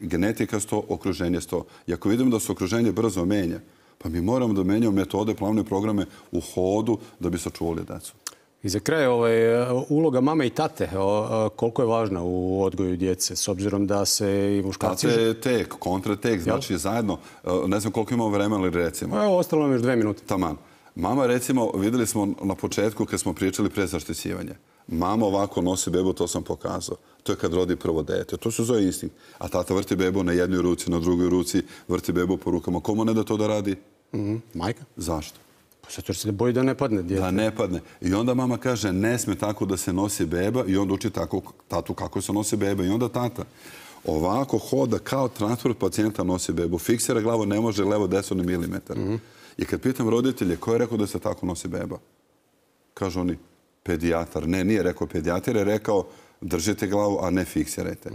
genetika 100, okruženje 100. I ako vidimo da se okruženje brzo menja, pa mi moramo da menjamo metode, planove, programe u hodu da bi sačuvali decu. I za kraj, uloga mame i tate, koliko je važna u odgoju djece, s obzirom da se i muškarci... Tate je tek, kontratek, znači zajedno, ne znam koliko imamo vremena, ali recimo... Evo, ostalo nam još 2 minute. Taman. Mama, recimo, vidjeli smo na početku kad smo pričali pre zaštićivanja. Mama ovako nosi bebu, to sam pokazao. To je kad rodi prvo dete. To se zove instinkt. A tata vrti bebu na jednoj ruci, na drugoj ruci, vrti bebu po rukama. Komu ne da to da radi? Majka. Zašto? Zato što se boji da ne padne dijete. Da ne padne. I onda mama kaže ne sme tako da se nosi beba i onda uči tatu kako se nosi beba. I onda tata ovako hoda kao transport pacijenta nosi bebu. Fiksira glavu, ne može levo desno milimetar. I kad pitam roditelje ko je rekao da se tako nosi beba? Kažu oni pedijatar. Ne, nije rekao pedijatar, je rekao držite glavu, a ne fiksirajte.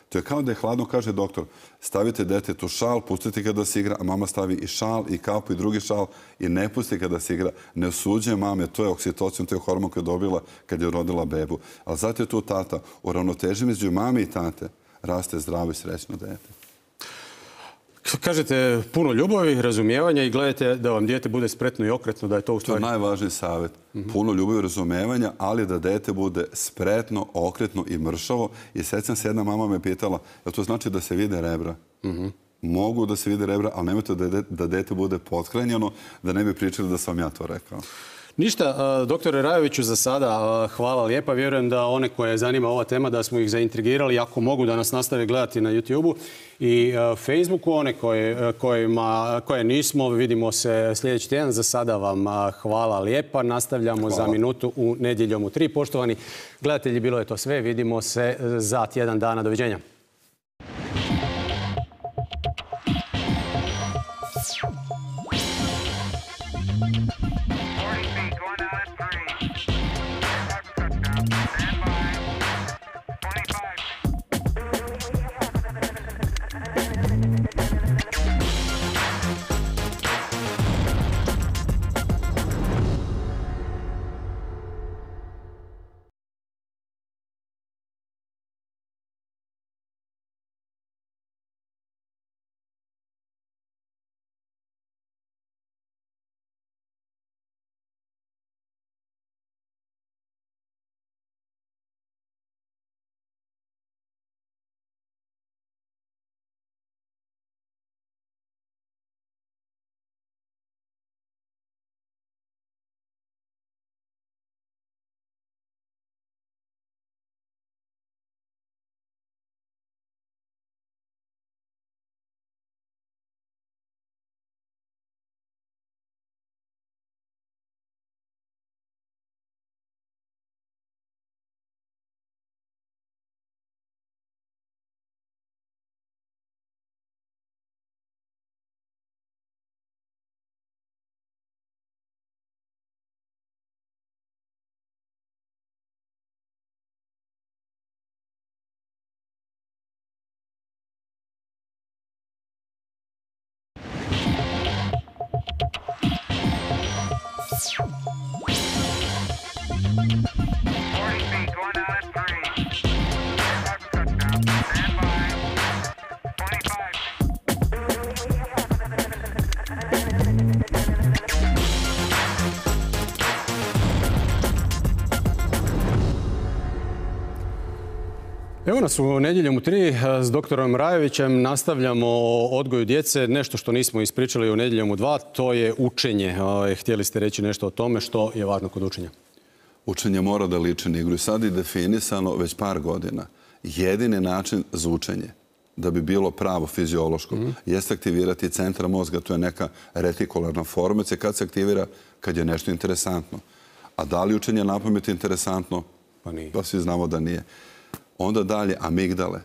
To je kao da je hladno, kaže doktor, stavite detetu šal, pustite ga da se igra, a mama stavi i šal, i kapu, i drugi šal i ne pusti ga da se igra. Ne osuđuje mame, to je oksitocin, to je hormon koji je dobila kad je rodila bebu. Ali zato je tu tata. U ravnoteži među mame i tate raste zdravo i srećno dete. Kažete puno ljubavi, razumijevanja i gledajte da vam dijete bude spretno i okretno, da je to u stvari... To je najvažniji savjet. Puno ljubavi i razumijevanja, ali da dete bude spretno, okretno i mršavo. I sećam se, jedna mama me pitala, jel to znači da se vide rebra? Mogu da se vide rebra, ali nemojte da dete bude pothranjeno, da ne bi pričali da sam ja to rekao. Ništa, doktore Rajoviću, za sada hvala lijepa. Vjerujem da one koje zanima ova tema, da smo ih zaintrigirali, ako mogu da nas nastave gledati na YouTube-u i Facebooku. One koje nismo, vidimo se sljedeći tjedan. Za sada vam hvala lijepa. Nastavljamo za minutu u Nedjeljom u 3. Poštovani gledatelji, bilo je to sve. Vidimo se za tjedan dana. Doviđenja. Evo nas u Nedjeljom u 3 s doktorom Rajovićem. Nastavljamo o odgoju djece. Nešto što nismo ispričali u Nedjeljom u 2, to je učenje. Htjeli ste reći nešto o tome što je važno kod učenja? Učenje mora da liči na igru. I sad je definisano već par godina. Jedini način za učenje, da bi bilo pravo fiziološko, jeste aktivirati centra mozga. To je neka retikularna formacija kad se aktivira kad je nešto interesantno. A da li učenje napamet interesantno? Pa nije. Pa svi znamo da nije. Onda dalje, amigdale.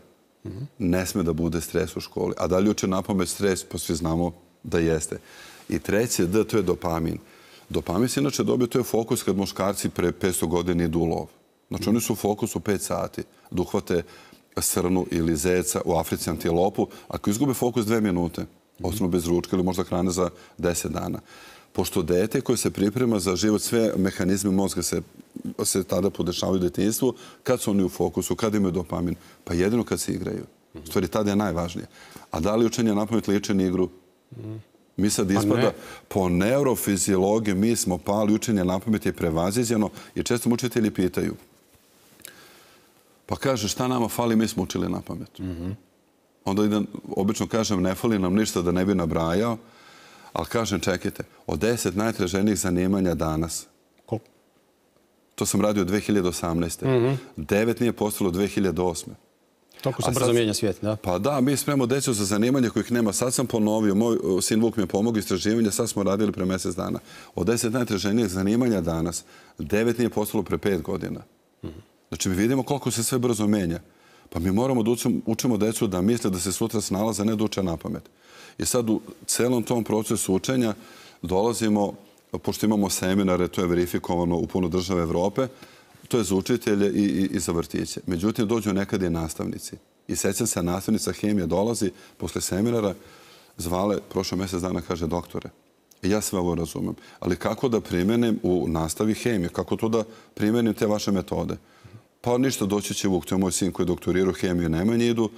Ne sme da bude stres u školi. A da li uče napamet stres? Pa svi znamo da jeste. I treće, D, to je dopamin. Dopamin se inače dobio, to je fokus kad muškarci pre 500 godina idu u lov. Znači oni su u fokusu 5 sati da uhvate srnu ili zeca, u Africi antilopu. Ako izgube fokus 2 minute, ostanu bez ručka ili možda hrane za 10 dana. Pošto dete koje se priprema za život, sve mehanizme mozga se tada podešavaju u detinjstvu, kad su oni u fokusu, kad imaju dopamin, pa jedino kad se igraju. U stvari, tada je najvažnije. A da li učenje napamet liči na igru? Mi sad ispada, po neurofiziologiji mi smo pali, učenje napamet je prevaziđeno i često mu učitelji pitaju. Pa kaže, šta nama fali, mi smo učili napamet. Onda obično kažem, ne fali nam ništa da ne bi nabrajao, ali kažem, čekajte, od 10 najtraženijih zanimanja danas, to sam radio 2018. 9 nije postalo 2008. Toliko se brzo mijenja svijet, da? Pa da, mi spremamo decu za zanimanje kojih nema. Sad sam ponovio, moj sin Vuk mi je pomogao istraživanje, sad smo radili pre mjesec dana. Od 10 najtraženijih zanimanja danas, 9 nije postalo pre 5 godina. Znači, mi vidimo koliko se sve brzo menja. Pa mi moramo da učimo decu da misle da se sutra snalaze, ne da uče napamet. I sad u celom tom procesu učenja dolazimo, pošto imamo seminare, to je verifikovano u puno države Evrope, to je za učitelje i za vrtiće. Međutim, dođu nekad i nastavnici. I sećam se, nastavnica hemije dolazi posle seminara, zvale, prošlo mjesec dana, kaže, doktore, ja sve ovo razumem, ali kako da primenim u nastavi hemije, kako to da primenim te vaše metode? Pa ništa, doći će Vuk, to je moj sin koji doktorirao hemiju, Nemanji idu,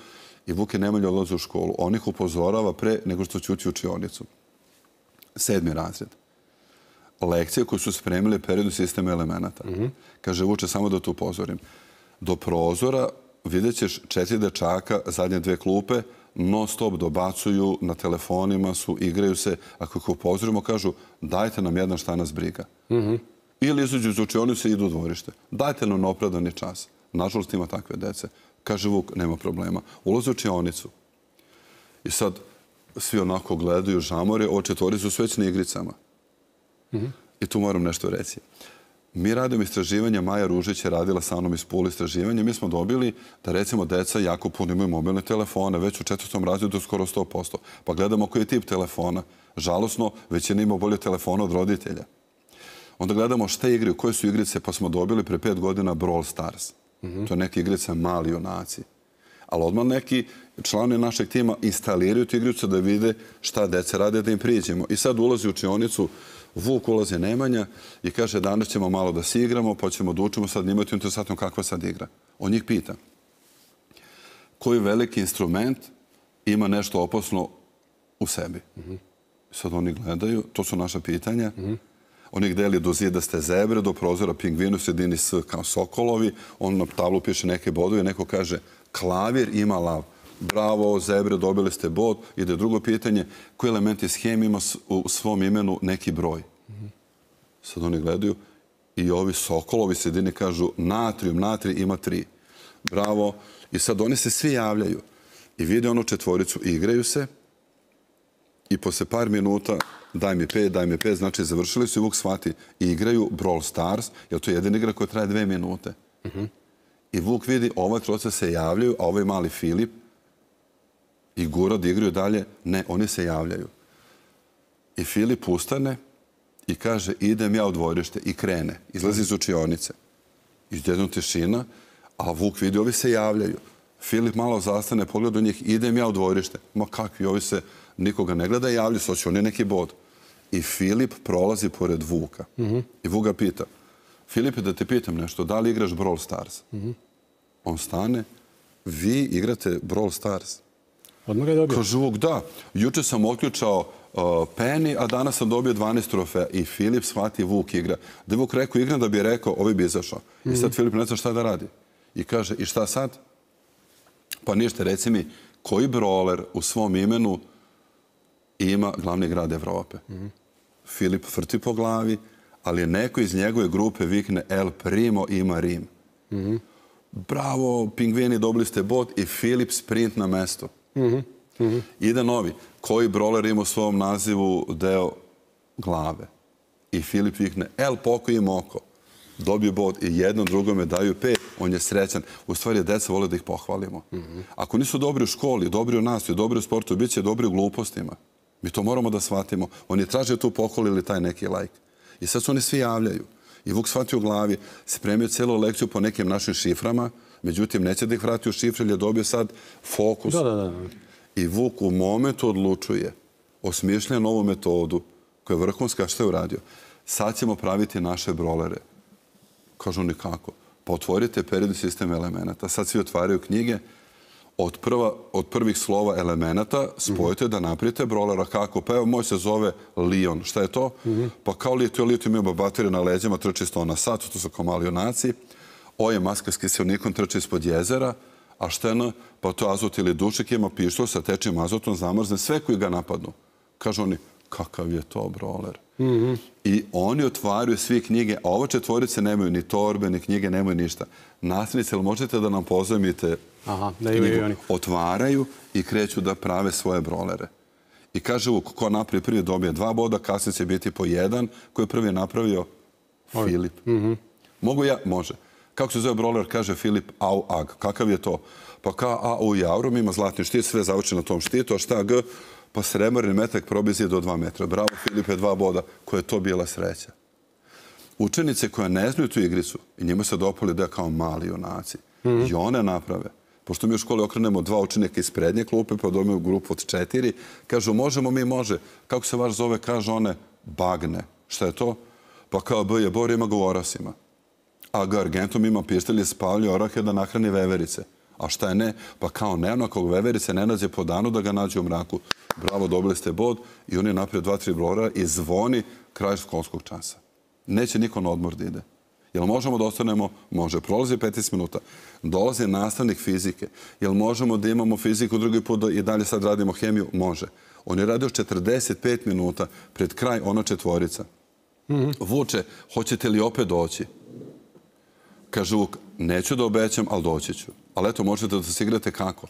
i Vuk i Nemanja odlaze u školu. On ih upozorava pre nego što će ući u učionicu. 7. razred. Lekcije koje su spremili periodu sistema elemenata. Kaže, Vuče, samo da te upozorim. Do prozora vidjet ćeš 4 dečaka, zadnje 2 klupe, non stop dobacuju, na telefonima su, igraju se. Ako ih upozorimo, kažu, dajte nam jedan, šta nas briga. Ili izađu iz učionice i idu u dvorište. Dajte nam opravdani čas. Nažalost, ima takve dece. Kaže Vuk, nema problema. Ulaze u učionicu. I sad svi onako gledaju, žamore, ovo 4 su već na igricama. I tu moram nešto reći. Mi radimo istraživanja, Maja Ružić je radila sa mnom iz Pula istraživanja. Mi smo dobili da, recimo, deca jako puno imaju mobilne telefone, već u 4. razredu skoro 100%. Pa gledamo koji je tip telefona. Žalosno, većina ima bolje telefona od roditelja. Onda gledamo šta igraju, koje su igrice, pa smo dobili pre 5 godina Brawl Stars. To je neka igrica mali junaci. Ali odmah neki članovi našeg tima instaliraju tu igricu da vide šta deca rade, da im priđemo. I sad ulazi u učionicu, Vuk, ulazi Nemanja i kaže, danas ćemo malo da se igramo, pa ćemo da učimo, sad njima je interesantno kakva sad igra. On njih pita, koji veliki instrument ima nešto opasno u sebi? Sad oni gledaju, to su naša pitanja. Oni ih deli do zidaste zebre, do prozora pingvinu, sredini S kao sokolovi. On na tablu piše neke bodove, neko kaže, klavir ima lav. Bravo, zebre, dobili ste bod. Ide drugo pitanje, koji element iz hemije ima u svom imenu neki broj? Sad oni gledaju i ovi sokolovi sredini kažu, natrijum, natrij ima 3. Bravo. I sad oni se svi javljaju i vide onu 4, igraju se i posle par minuta daj mi 5, znači završili su i Vuk shvati i igraju Brawl Stars, jer to je jedina igra koja traje 2 minute. I Vuk vidi, ova 3 se javljaju, a ovaj mali Filip i Gura da igraju dalje. Ne, oni se javljaju. I Filip ustane i kaže, idem ja u dvorište i krene. Izlazi iz učionice. Izjedno tišina, a Vuk vidi, ovi se javljaju. Filip malo zastane, pogleda u njih, idem ja u dvorište. Ma kakvi, ovi se nikoga ne gleda i javljaju se, hoće oni neki bod. I Filip prolazi pored Vuka. I Vuk ga pita, Filipe, da te pitam nešto, da li igraš Brawl Stars? On stane, vi igrate Brawl Stars? Odmah ga je dobio. Kaže Vuk, da. Juče sam otključao Penny, a danas sam dobio 12 trofeja. I Filip shvati, Vuk igra. Da je Vuk rekao, igram da bi rekao, ovaj bi izašao. I sad Filip ne zna šta da radi. I kaže, i šta sad? Pa ništa, reci mi, koji broler u svom imenu ima glavni grad Evrope? Filip vrti po glavi, ali neko iz njegove grupe vikne El Primo ima Rim. Bravo, pingvini, dobili ste bod i Filip sprint na mesto. Ide novi. Koji broler ima u svom nazivu deo glave? I Filip vikne El Poco i Moko. Dobiju bod i jednom drugome daju 5. On je srećan. U stvari, deca vole da ih pohvalimo. Ako nisu dobri u školi, dobri u nastavi, dobri u sportu, bit će dobri u glupostima. Mi to moramo da shvatimo. Oni traže tu pohvalu ili taj neki lajk. I sad se oni svi javljaju. I Vuk shvati u glavi, spremio celu lekciju po nekim našim šiframa, međutim, neće da ih vrati u šifre, jer je dobio sad fokus. I Vuk u momentu odlučuje, osmišlja novu metodu, koja je vrhunska, što je uradio. Sad ćemo praviti naše brolere. Kažu oni kako? Pa otvorite periodni sistem elemenata. Sad svi otvaraju knjige. Od prvih slova elemenata spojite da napravite brolera. Kako? Pa evo, moj se zove Lion. Šta je to? Pa kao litijum ima baterije na leđima, trči 100 na sat, to su kao mali junaci. O je maska s kiselnikom, trči ispod jezera. A šta je? Pa to azot ili dušik, ima pištolj sa tečnim azotom, zamrzne sve koji ga napadnu. Kažu oni, kakav je to broler? I oni otvaraju svi knjige, a ova četvorice nemaju ni torbe, ni knjige, nemaju ništa. Nastavnici, ali možete da nam pozajmite knjigu? Otvaraju i kreću da prave svoje brolere. I kaže, ko napravi prvi dobije 2 boda, kasnije će biti po 1, koji je prvi napravio Filip. Mogu ja? Može. Kako se zove broler? Kaže Filip Au Ag. Kakav je to? Pa kao A u Jaurom ima zlatni štit, sve završeno na tom štitu, a šta G? Pa srebrni metak probizije do 2 metra. Bravo, Filipe, 2 boda. Koja je to bila sreća. Učenice koje ne znaju tu igricu i njima se dopali da je kao mali junaci. I one naprave. Pošto mi u školi okrenemo 2 učenika iz prednje klupe, pa dobijemo grupu od 4. Kažu, možemo mi, može. Kako se vaš zove? Kaže one, Bagne. Šta je to? Pa kao B je Bor, ima govorasima. A G Argentum ima pištolje, spavlje orahe da nahrani veverice. A šta je ne? Pa kao ne, onakog veverice ne nađe po danu da ga nađe u mraku. Bravo, dobili ste bod i oni naprije 2-3 brolera i zvoni kraj školskog časa. Neće niko na odmor da ide. Jel možemo da ostanemo? Može. Prolazi 15 minuta. Dolazi nastavnik fizike. Jel možemo da imamo fiziku drugi put i dalje sad radimo hemiju? Može. On je radio 45 minuta pred kraj ona četvorica. Vuče, hoćete li opet doći? Kaže Vuk, neću da obećam, ali doći ću. Ali eto, možete da se igrate kako?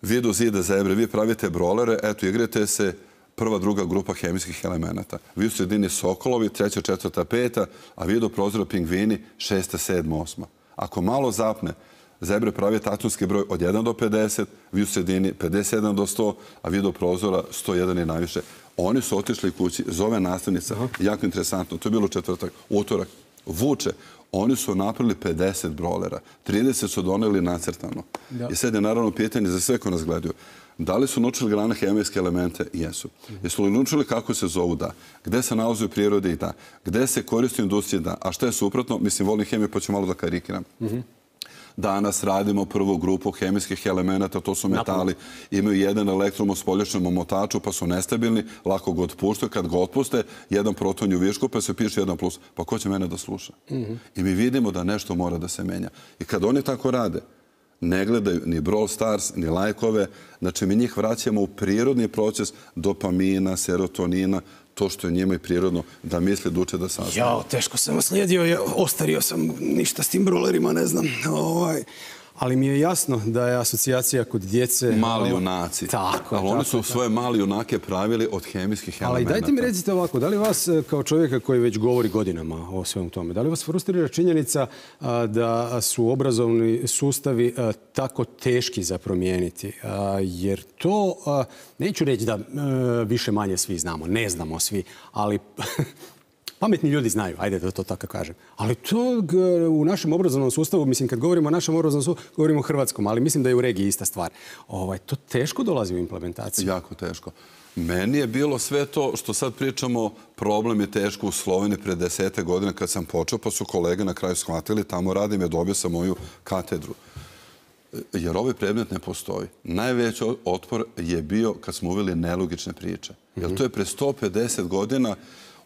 Vi do zida zebre, vi pravite brolere, eto, igrate se prva, druga grupa hemijskih elemenata. Vi u sredini sokolovi, 3., 4., 5., a vi do prozora pingvini, 6., 7., 8. Ako malo zapne, zebre pravi atomski broj od 1 do 50, vi u sredini 57 do 100, a vi do prozora 101 i najviše. Oni su otišli kući, zove nastavnica, jako interesantno, to je bilo četvrtak, utorak, Vuče, oni su napravili 50 brolera, 30 su doneli nacrtano. I sad je naravno pitanje za sve ko nas gledaju. Da li su naučili grane hemijske elemente? Jesu. Jesu li naučili kako se zovu? Da. Gde se nalaze u prirodi? Da. Gde se koristi u industriji? Da. A šta je suprotno? Mislim, volim hemiju, pa ću malo da karikiram. Danas radimo prvu grupu hemijskih elemenata, to su metali, imaju jedan elektron u spoljašnjem omotaču, pa su nestabilni, lako ga otpuštaju, kad ga otpuste, jedan proton je u višku, pa se piše 1+. Pa ko će mene da sluša? I mi vidimo da nešto mora da se menja. I kad oni tako rade, ne gledaju ni Brawl Stars, ni lajkove, znači mi njih vraćamo u prirodni proces dopamina, serotonina, to što je njima i prirodno da misle, da uče, da saznaju. Jao, teško sam oslijedio, ostario sam, ništa s tim brolerima, ne znam. Ali mi je jasno da je asocijacija kod djece... Mali junaci. Tako. Ali oni su svoje mali junake pravili od hemijskih elemenata. Ali dajte mi recite ovako, da li vas kao čovjeka koji već govori godinama o svemu tome, da li vas frustrira činjenica da su obrazovni sustavi tako teški za promijeniti? Jer to, neću reći da više manje svi znamo, ne znamo svi, ali... Pametni ljudi znaju, ajde da to tako kažem. Ali to u našem obrazovnom sustavu, mislim, kad govorimo o našem obrazovnom sustavu, govorimo o hrvatskom, ali mislim da je u regiji ista stvar. To teško dolazi u implementaciju. Jako teško. Meni je bilo sve to što sad pričamo, problem je teško u Sloveniji pred 10 godina kad sam počeo, pa su kolege na kraju shvatili, tamo radim, je dobio sam moju katedru. Jer ovaj predmet ne postoji. Najveći otpor je bio kad smo uveli nelogične priče. Jer to je pre 150 godina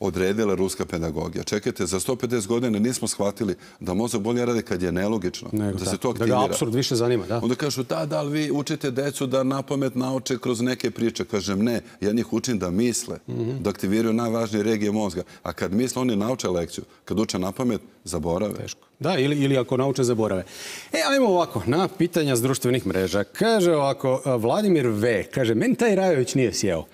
odredila ruska pedagogija. Čekajte, za 150 godina nismo shvatili da mozak bolje radi kad je nelogično, da se to aktivira. Da ga apsurd više zanima, da. Onda kažu, da, ali vi učite decu da napamet nauče kroz neke priče. Kažem, ne, ja njih učim da misle, da aktiviraju najvažnije regije mozga. A kad misle, oni nauče lekciju. Kad uče napamet, zaborave. Teško. Da, ili ako nauče, zaborave. Ajmo ovako, na pitanja s društvenih mreža. Kaže ovako, Vladimir V. kaže, meni taj Rajović nije sjeo.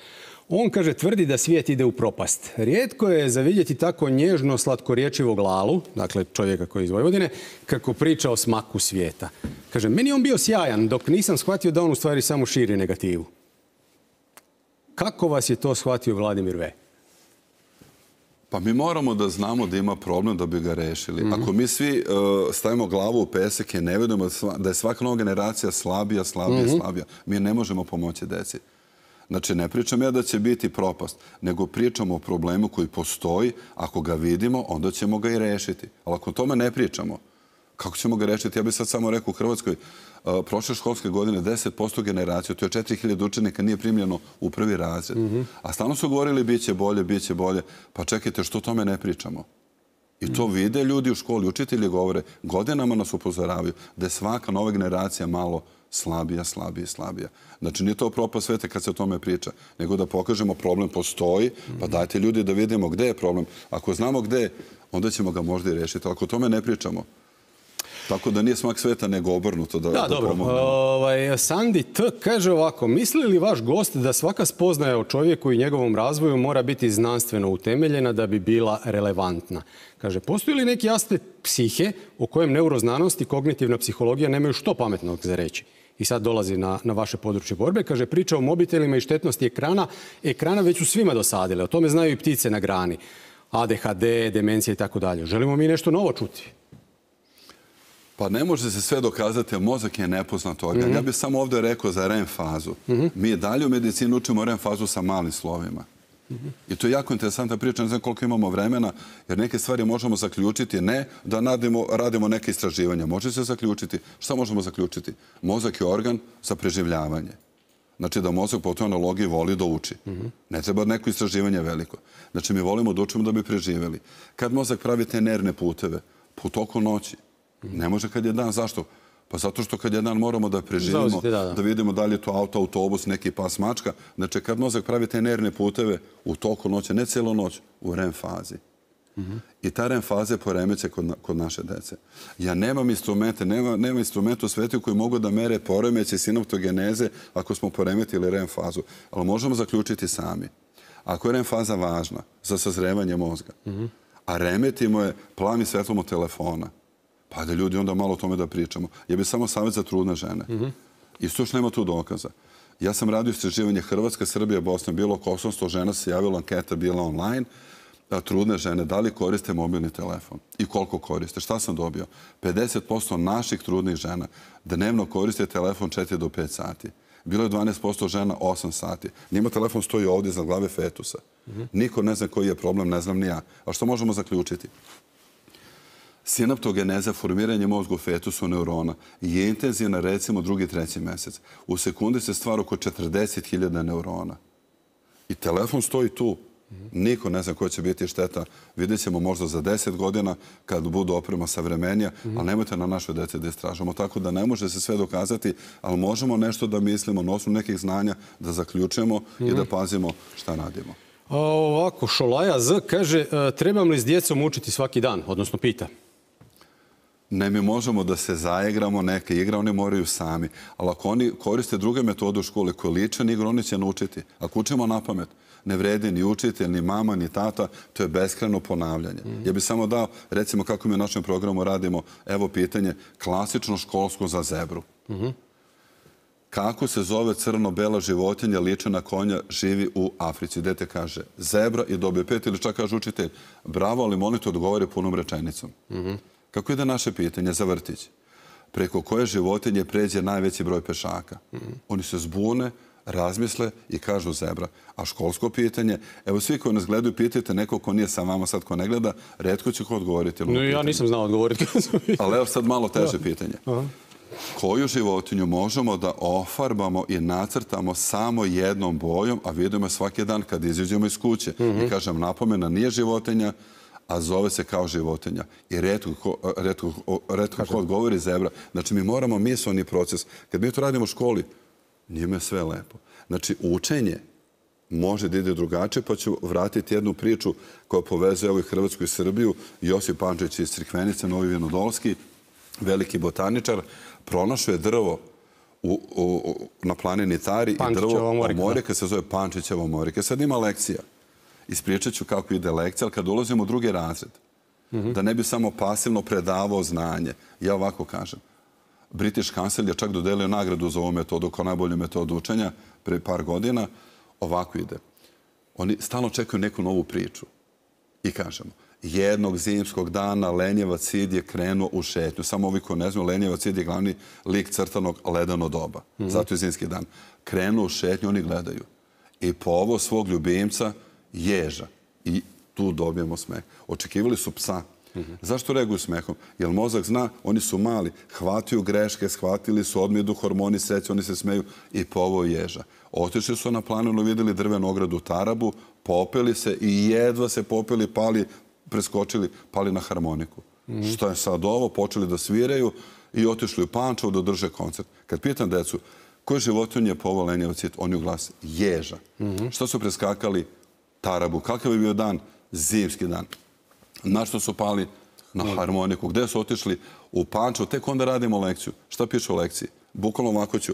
On, kaže, tvrdi da svijet ide u propast. Rijetko je za vidjeti tako nježno slatkorječivog Lalu, dakle čovjeka koji je iz Vojvodine, kako priča o smaku svijeta. Kaže, meni je on bio sjajan, dok nisam shvatio da on u stvari samo širi negativu. Kako vas je to shvatio Vladimir V? Pa mi moramo da znamo da ima problem da bi ga rešili. Ako mi svi stavimo glavu u pesak i ne vidimo da je svaka nova generacija slabija, mi ne možemo pomoći deci. Znači, ne pričam ja da će biti propast, nego pričamo o problemu koji postoji. Ako ga vidimo, onda ćemo ga i rešiti. Ali ako o tome ne pričamo, kako ćemo ga rešiti? Ja bih sad samo rekao u Hrvatskoj, prošle školske godine 10% generacije, to je 4000 učenika, nije primljeno u prvi razred. A stalno su govorili bit će bolje, bit će bolje. Pa čekajte, što o tome ne pričamo? I to vide ljudi u školi, učitelji govore, godinama nas upozoravaju da je svaka nova generacija malo slabija. Znači, nije to propast sveta kad se o tome priča, nego da pokažemo problem postoji, pa dajte ljudi da vidimo gde je problem. Ako znamo gde je, onda ćemo ga možda i rešiti. Ako o tome ne pričamo, tako da nije smak sveta nego obrnuto da pomognemo. Sandi T. kaže ovako, misli li vaš gost da svaka spoznaja o čovjeku i njegovom razvoju mora biti znanstveno utemeljena da bi bila relevantna? Kaže, postoji li neki aspekt psihe o kojem neuroznanost i kognitivna psihologija nemaju što pametnog za reći? I sad dolazi na vaše područje borbe. Kaže, priča o mobitelima i štetnosti ekrana već su svima dosadile. O tome znaju i ptice na grani. ADHD, demencija i tako dalje. Želimo mi nešto novo čuti? Pa ne može se sve dokazati, a mozak je nepoznat organ. Ja bih samo ovdje rekao za REM fazu. Mi dalje u medicini učimo REM fazu sa malim slovima. I to je jako interesantna priča, ne znam koliko imamo vremena, jer neke stvari možemo zaključiti, ne da radimo neke istraživanja. Može se zaključiti. Šta možemo zaključiti? Mozak je organ za preživljavanje. Znači da mozak po toj analogiji voli da uči. Ne treba neko istraživanje veliko. Znači mi volimo da učimo da bi preživjeli. Kad mozak pravi te nervne puteve, po toku noći, ne može kad je dan. Zašto? Pa zato što kad je dan moramo da preživimo, da vidimo da li je to auto, autobus, neki pas, mačka. Znači kad mozak pravi te nervne puteve u toku noći, ne cijelu noć, u REM fazi. I ta REM faza je poremećaj kod naše dece. Ja nemam instrumente, nema instrumenta u svijetu koji mogu da mere poremećaj sinaptogeneze ako smo poremetili REM fazu. Ali možemo zaključiti sami. Ako je REM faza važna za sazrevanje mozga, a remetimo je plavim svetlom od telefona, pa da ljudi onda malo o tome da pričamo. Ja bih samo savjet za trudne žene. Isto još nema tu dokaza. Ja sam radio istraživanje Hrvatska, Srbija, Bosna, bilo oko 800 žena se javila, anketa bila online. Trudne žene, da li koriste mobilni telefon i koliko koriste? Šta sam dobio? 50% naših trudnih žena dnevno koriste telefon 4 do 5 sati. Bilo je 12% žena 8 sati. Njima telefon stoji ovdje iznad glave fetusa. Niko ne zna koji je problem, ne znam ni ja. A što možemo zaključiti? Sinaptogeneza, formiranje mozga u fetusu neurona je intenzivna recimo 2. 3. mjesec. U sekundi se stvara oko 40.000 neurona. I telefon stoji tu. Niko ne zna koja će biti šteta. Vidjet ćemo možda za 10 godina kad budu oprema savremenija, ali nemojte na našoj deci da istražamo. Tako da ne može se sve dokazati, ali možemo nešto da mislimo na osnovu nekih znanja, da zaključujemo i da pazimo šta radimo. Ovako, Šolaja Z kaže, trebam li s djecom učiti svaki dan, odnosno pita? Ne, mi možemo da se zaigramo neke igre, oni moraju sami. Ali ako oni koriste druge metode u školi koje liče na igru, oni će naučiti. Ako učimo na pamet, ne vredi ni učitelj, ni mama, ni tata, to je beskrajno ponavljanje. Ja bih samo dao, recimo kako mi u našem programu radimo, evo pitanje, klasično školsko za zebru. Kako se zove crno-bela životinja, liče na konja, živi u Africi? Dete kaže zebra i dobije 5 ili čak kaže učitelj, bravo, ali molim te odgovori punom rečenicom. Kako ide naše pitanje za vrtić? Preko koje životinje pređe najveći broj pešaka? Oni se zbune, razmisle i kažu zebra. A školsko pitanje, evo svi koji nas gledaju, pitajte neko ko nije sa vama sad, ko ne gleda, retko će ko odgovoriti. No, ja nisam znao odgovoriti. Ali evo sad malo teže pitanje. koju životinju možemo da ofarbamo i nacrtamo samo jednom bojom, a vidimo svaki dan kad izađemo iz kuće. I kažem, napomena nije životinja, a zove se kao životinja. I retko ko odgovori zebra. Znači, mi moramo misleni proces. Kad mi to radimo u školi, njima je sve lepo. Znači, učenje može da ide drugačije, pa ću vratiti jednu priču koja povezuje ovoj Hrvatsku i Srbiju. Josip Pančić iz Crikvenice, Novi Vinodolski, veliki botaničar, pronašao je drvo na planini Tari i drvo omorika se zove Pančićeva omorika. Sad ima lekcija. Ispričat ću kako ide lekcija, ali kad ulazimo u drugi razred, da ne bi samo pasivno predavao znanje. Ja ovako kažem. British Council je čak dodelio nagradu za ovu metodu kao najbolju metodu učenja pre par godina. Ovako ide. Oni stalno čekaju neku novu priču. I kažemo, jednog zimskog dana Lenjevac Sid je krenuo u šetnju. Samo ovi koji ne znaju, Lenjevac Sid je glavni lik crtanog ledeno doba. Zato je zimski dan. Krenuo u šetnju, oni gledaju. I po ovo svog ljubimca ježa. I tu dobijemo smeh. Očekivali su psa. Zašto reaguju smehom? Jer mozak zna, oni su mali, hvataju greške, shvatili su, odmah idu hormoni sreće, oni se smeju i po ovo ježa. Otišli su na planinu, vidjeli drvenu ogradu Tarabu, popeli se i jedva se popeli, pali, preskočili, pali na harmoniku. Što je sad ovo? Počeli da sviraju i otišli u Pančevo da drže koncert. Kad pitam decu, koji životinje je poveo Lenjevac Sid? Oni u glas, ježa. Što su preskakali? Tarabu. Kakav je bio dan? Zimski dan. Na što su pali? Na harmoniku. Gde su otišli? U Pančevo. Tek onda radimo lekciju. Šta piše u lekciji? Bukvalno ovako ću.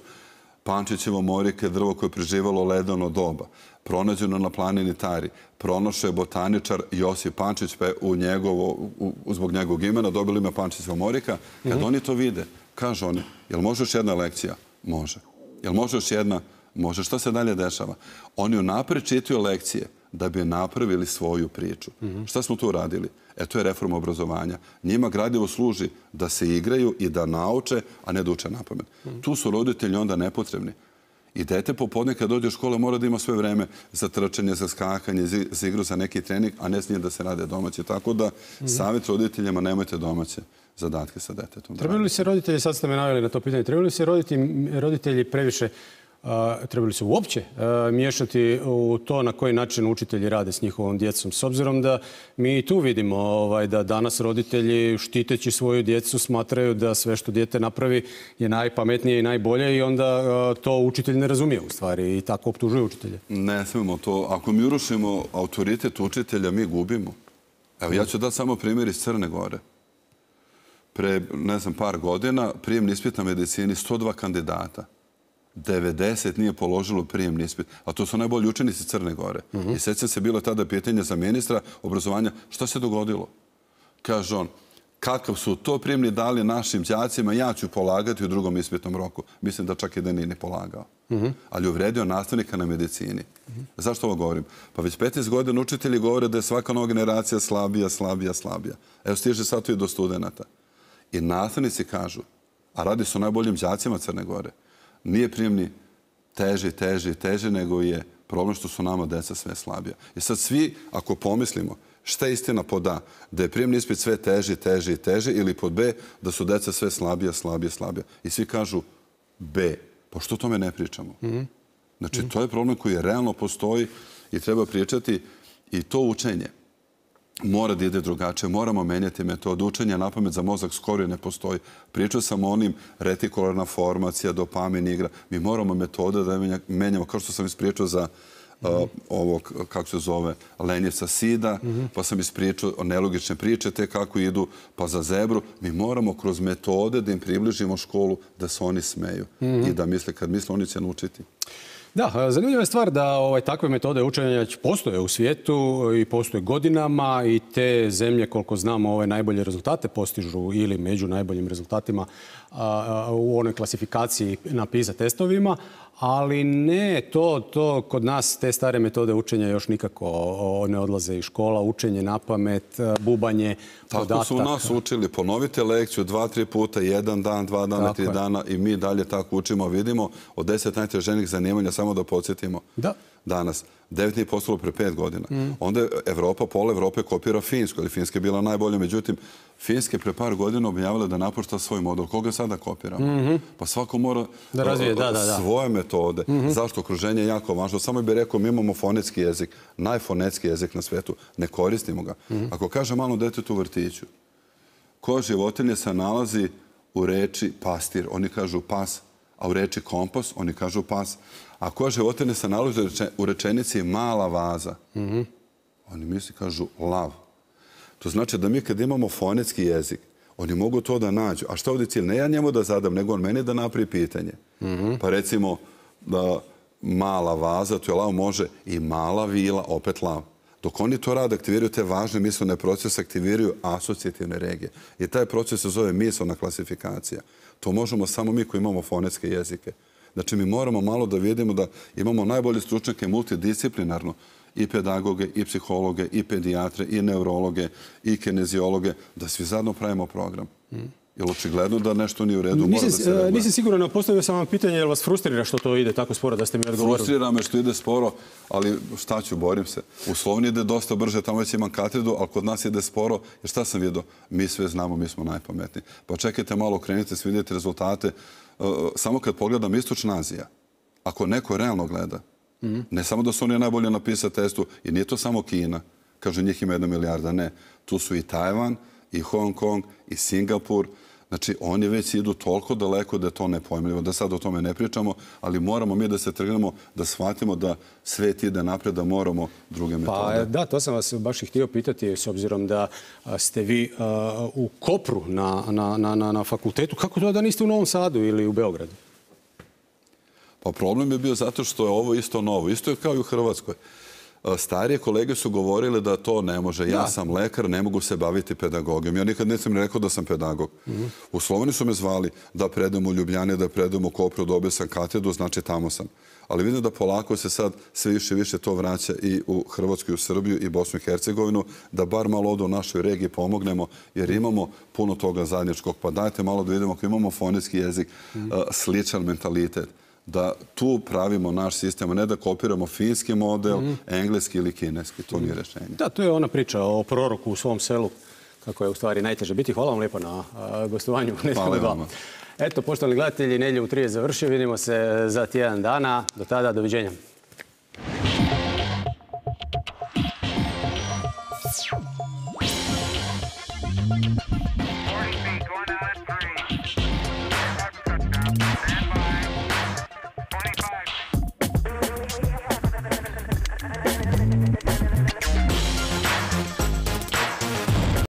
Pančićevo omorika je drvo koje je preživalo ledeno doba. Pronađeno na planini Tari. Pronašao je botaničar Josip Pančić, pa je zbog njegovog imena dobili ime Pančićeva omorika. Kad oni to vide, kažu oni, jel može još jedna lekcija? Može. Jel može još jedna? Može. Šta se dalje dešava? Oni unapred čitaju lekcije da bi napravili svoju priču. Šta smo tu radili? To je reforma obrazovanja. Njima gradivo služi da se igraju i da nauče, a ne da uče napamet. Tu su roditelji onda nepotrebni. I dete popodne kad dođe u školu mora da ima sve vreme za trčanje, za skakanje, za igru, za neki trening, a ne smije da se rade domaće. Tako da savjet roditeljima, nemojte domaće zadatke sa detetom. Trebali li se roditelji, sad ste me naveli na to pitanje, trebali li se roditelji previše trebali se uopće miješati u to na koji način učitelji rade s njihovom djecom. S obzirom da mi tu vidimo da danas roditelji štiteći svoju djecu smatraju da sve što dijete napravi je najpametnije i najbolje i onda to učitelj ne razumije u stvari i tako optužuje učitelje. Ne smemo to. Ako mi urušimo autoritet učitelja, mi gubimo. Evo, ja ću dati samo primjer iz Crne Gore. Pre, ne znam, par godina prijemni ispit na medicini 102 kandidata. 90 nije položilo prijemni ispit. A to su najbolji učenici Crne Gore. I sjećam se, bilo tada pitanje za ministra obrazovanja. Šta se dogodilo? Kaže on, kakav su to prijemni dali našim đacima, ja ću polagati u drugom ispitnom roku. Mislim da čak i da nije ni polagao. Ali uvredio nastavnika na medicini. Zašto ovo govorim? Pa već 15 godina učitelji govore da je svaka nova generacija slabija, slabija, slabija. Evo stiže sad tu i do studenata. I nastavnici kažu, a radi se o najboljim đacima Crne Gore, nije prijemni teži, nego je problem što su nama deca sve slabija. I sad svi, ako pomislimo, šta je istina pod A? Da je prijemni ispit sve teži ili pod B, da su deca sve slabija. I svi kažu B. Pa što o tome ne pričamo? Znači, to je problem koji realno postoji i treba pričati i to učenje mora da ide drugačije. Moramo menjati metodu učenja. Napamet za mozak skoro ne postoji. Pričao sam o onim retikularna formacija, dopamin, igra. Mi moramo metode da menjamo, kao što sam ispričao za ovog, kako se zove, Lenjevca Sida, pa sam ispričao o nelogične priče, te kako idu, pa za zebru. Mi moramo kroz metode da im približimo školu, da se oni smeju i da misle, kad misle, oni će naučiti. Da, zanimljiva je stvar da takve metode učenja postoje u svijetu i postoje godinama i te zemlje, koliko znamo, najbolje rezultate postižu ili među najboljim rezultatima u onoj klasifikaciji na PISA testovima, ali ne, to kod nas te stare metode učenja još nikako ne odlaze iz škola, učenje napamet, bubanje podataka. Tako su nas učili, ponovite lekciju 2-3 puta, 1 dan, 2 dana, 3 dana i mi dalje tako učimo, vidimo od 10 najteženijih zanimanja, samo da podsjetimo. danas. 9 nije postalo pre 5 godina. Onda je Evropa, pola Evrope kopira Finsku, ali Finska je bila najbolja. Međutim, Finska je pre par godina objavila da napušta svoj model. Koga sada kopiramo? Pa svako mora da razvije svoje metode. Zašto? Okruženje je jako važno. Samo bih rekao, mi imamo fonetski jezik, najfonetski jezik na svetu. Ne koristimo ga. Ako kaže malo detetu u vrtiću, koja životinja se nalazi u reči pastir, oni kažu pas, a u reči kompost, oni kažu pas. A koja životinja se nalazi u rečenici mala vaza, oni misli kažu lav. To znači da mi kad imamo fonetski jezik, oni mogu to da nađu. A šta ovdje cilj? Ne ja njemu da zadam, nego on meni da napravi pitanje. Pa recimo da mala vaza, to je lav, može i mala vila, opet lav. Dok oni to rade, aktiviraju te važne mislene procese, aktiviraju asocijativne regije. I taj proces se zove mislena klasifikacija. To možemo samo mi koji imamo fonetske jezike. Znači, mi moramo malo da vidimo da imamo najbolje stručnjake multidisciplinarno, i pedagoge, i psihologe, i pedijatre, i neurologe, i kineziologe, da svi zajedno pravimo program. Jer očigledno da nešto nije u redu. Nisam siguran, postavio sam vam pitanje, jel vas frustrira što to ide tako sporo, da ste mi odgovorili? Frustrira me što ide sporo, ali šta ću, borim se. U Sloveniji ide dosta brže, tamo već imam katedru, ali kod nas ide sporo, jer šta sam vidio? Mi sve znamo, mi smo najpametniji. Pa čekajte malo, krenite, vidite rezultate. Samo kad pogledam Istočna Azija, ako neko realno gleda, ne samo da su oni najbolje napisati testu, i nije to samo Kina, kaže njih ima 1 milijarda, ne. Tu su i Tajvan, i Hong Kong, i Singapur. Znači, oni već idu toliko daleko da je to nepojmljivo, da sad o tome ne pričamo, ali moramo mi da se trgnemo, da shvatimo da svet ide napred, da moramo druge metode. Pa da, to sam vas baš i htio pitati, s obzirom da ste vi u Kopru na fakultetu. Kako to da niste u Novom Sadu ili u Beogradu? Pa problem je bio zato što je ovo isto novo. Isto je kao i u Hrvatskoj. Starije kolege su govorili da to ne može. Ja sam lekar, ne mogu se baviti pedagogijom. Ja nikad nisam rekao da sam pedagog. U Sloveniji su me zvali da predam u Ljubljani, da predam u Kopru, dobio sam katedru, znači tamo sam. Ali vidim da polako se sad sve više i više to vraća i u Hrvatsku, i u Srbiju, i Bosnu i Hercegovinu, da bar malo ovdje u našoj regiji pomognemo, jer imamo puno toga zajedničkog. Pa dajte malo da vidimo ako imamo fonetski jezik, sličan mentalitet, da tu pravimo naš sistem, a ne da kopiramo finski model, engleski ili kineski. To nije rješenje. Da, to je ona priča o proroku u svom selu, kako je u stvari najteže biti. Hvala vam lijepo na gostovanju. Hvala vam. Eto, poštovani gledatelji, Nedjelju u 3 je završio. Vidimo se za tjedan dana. Do tada, doviđenja.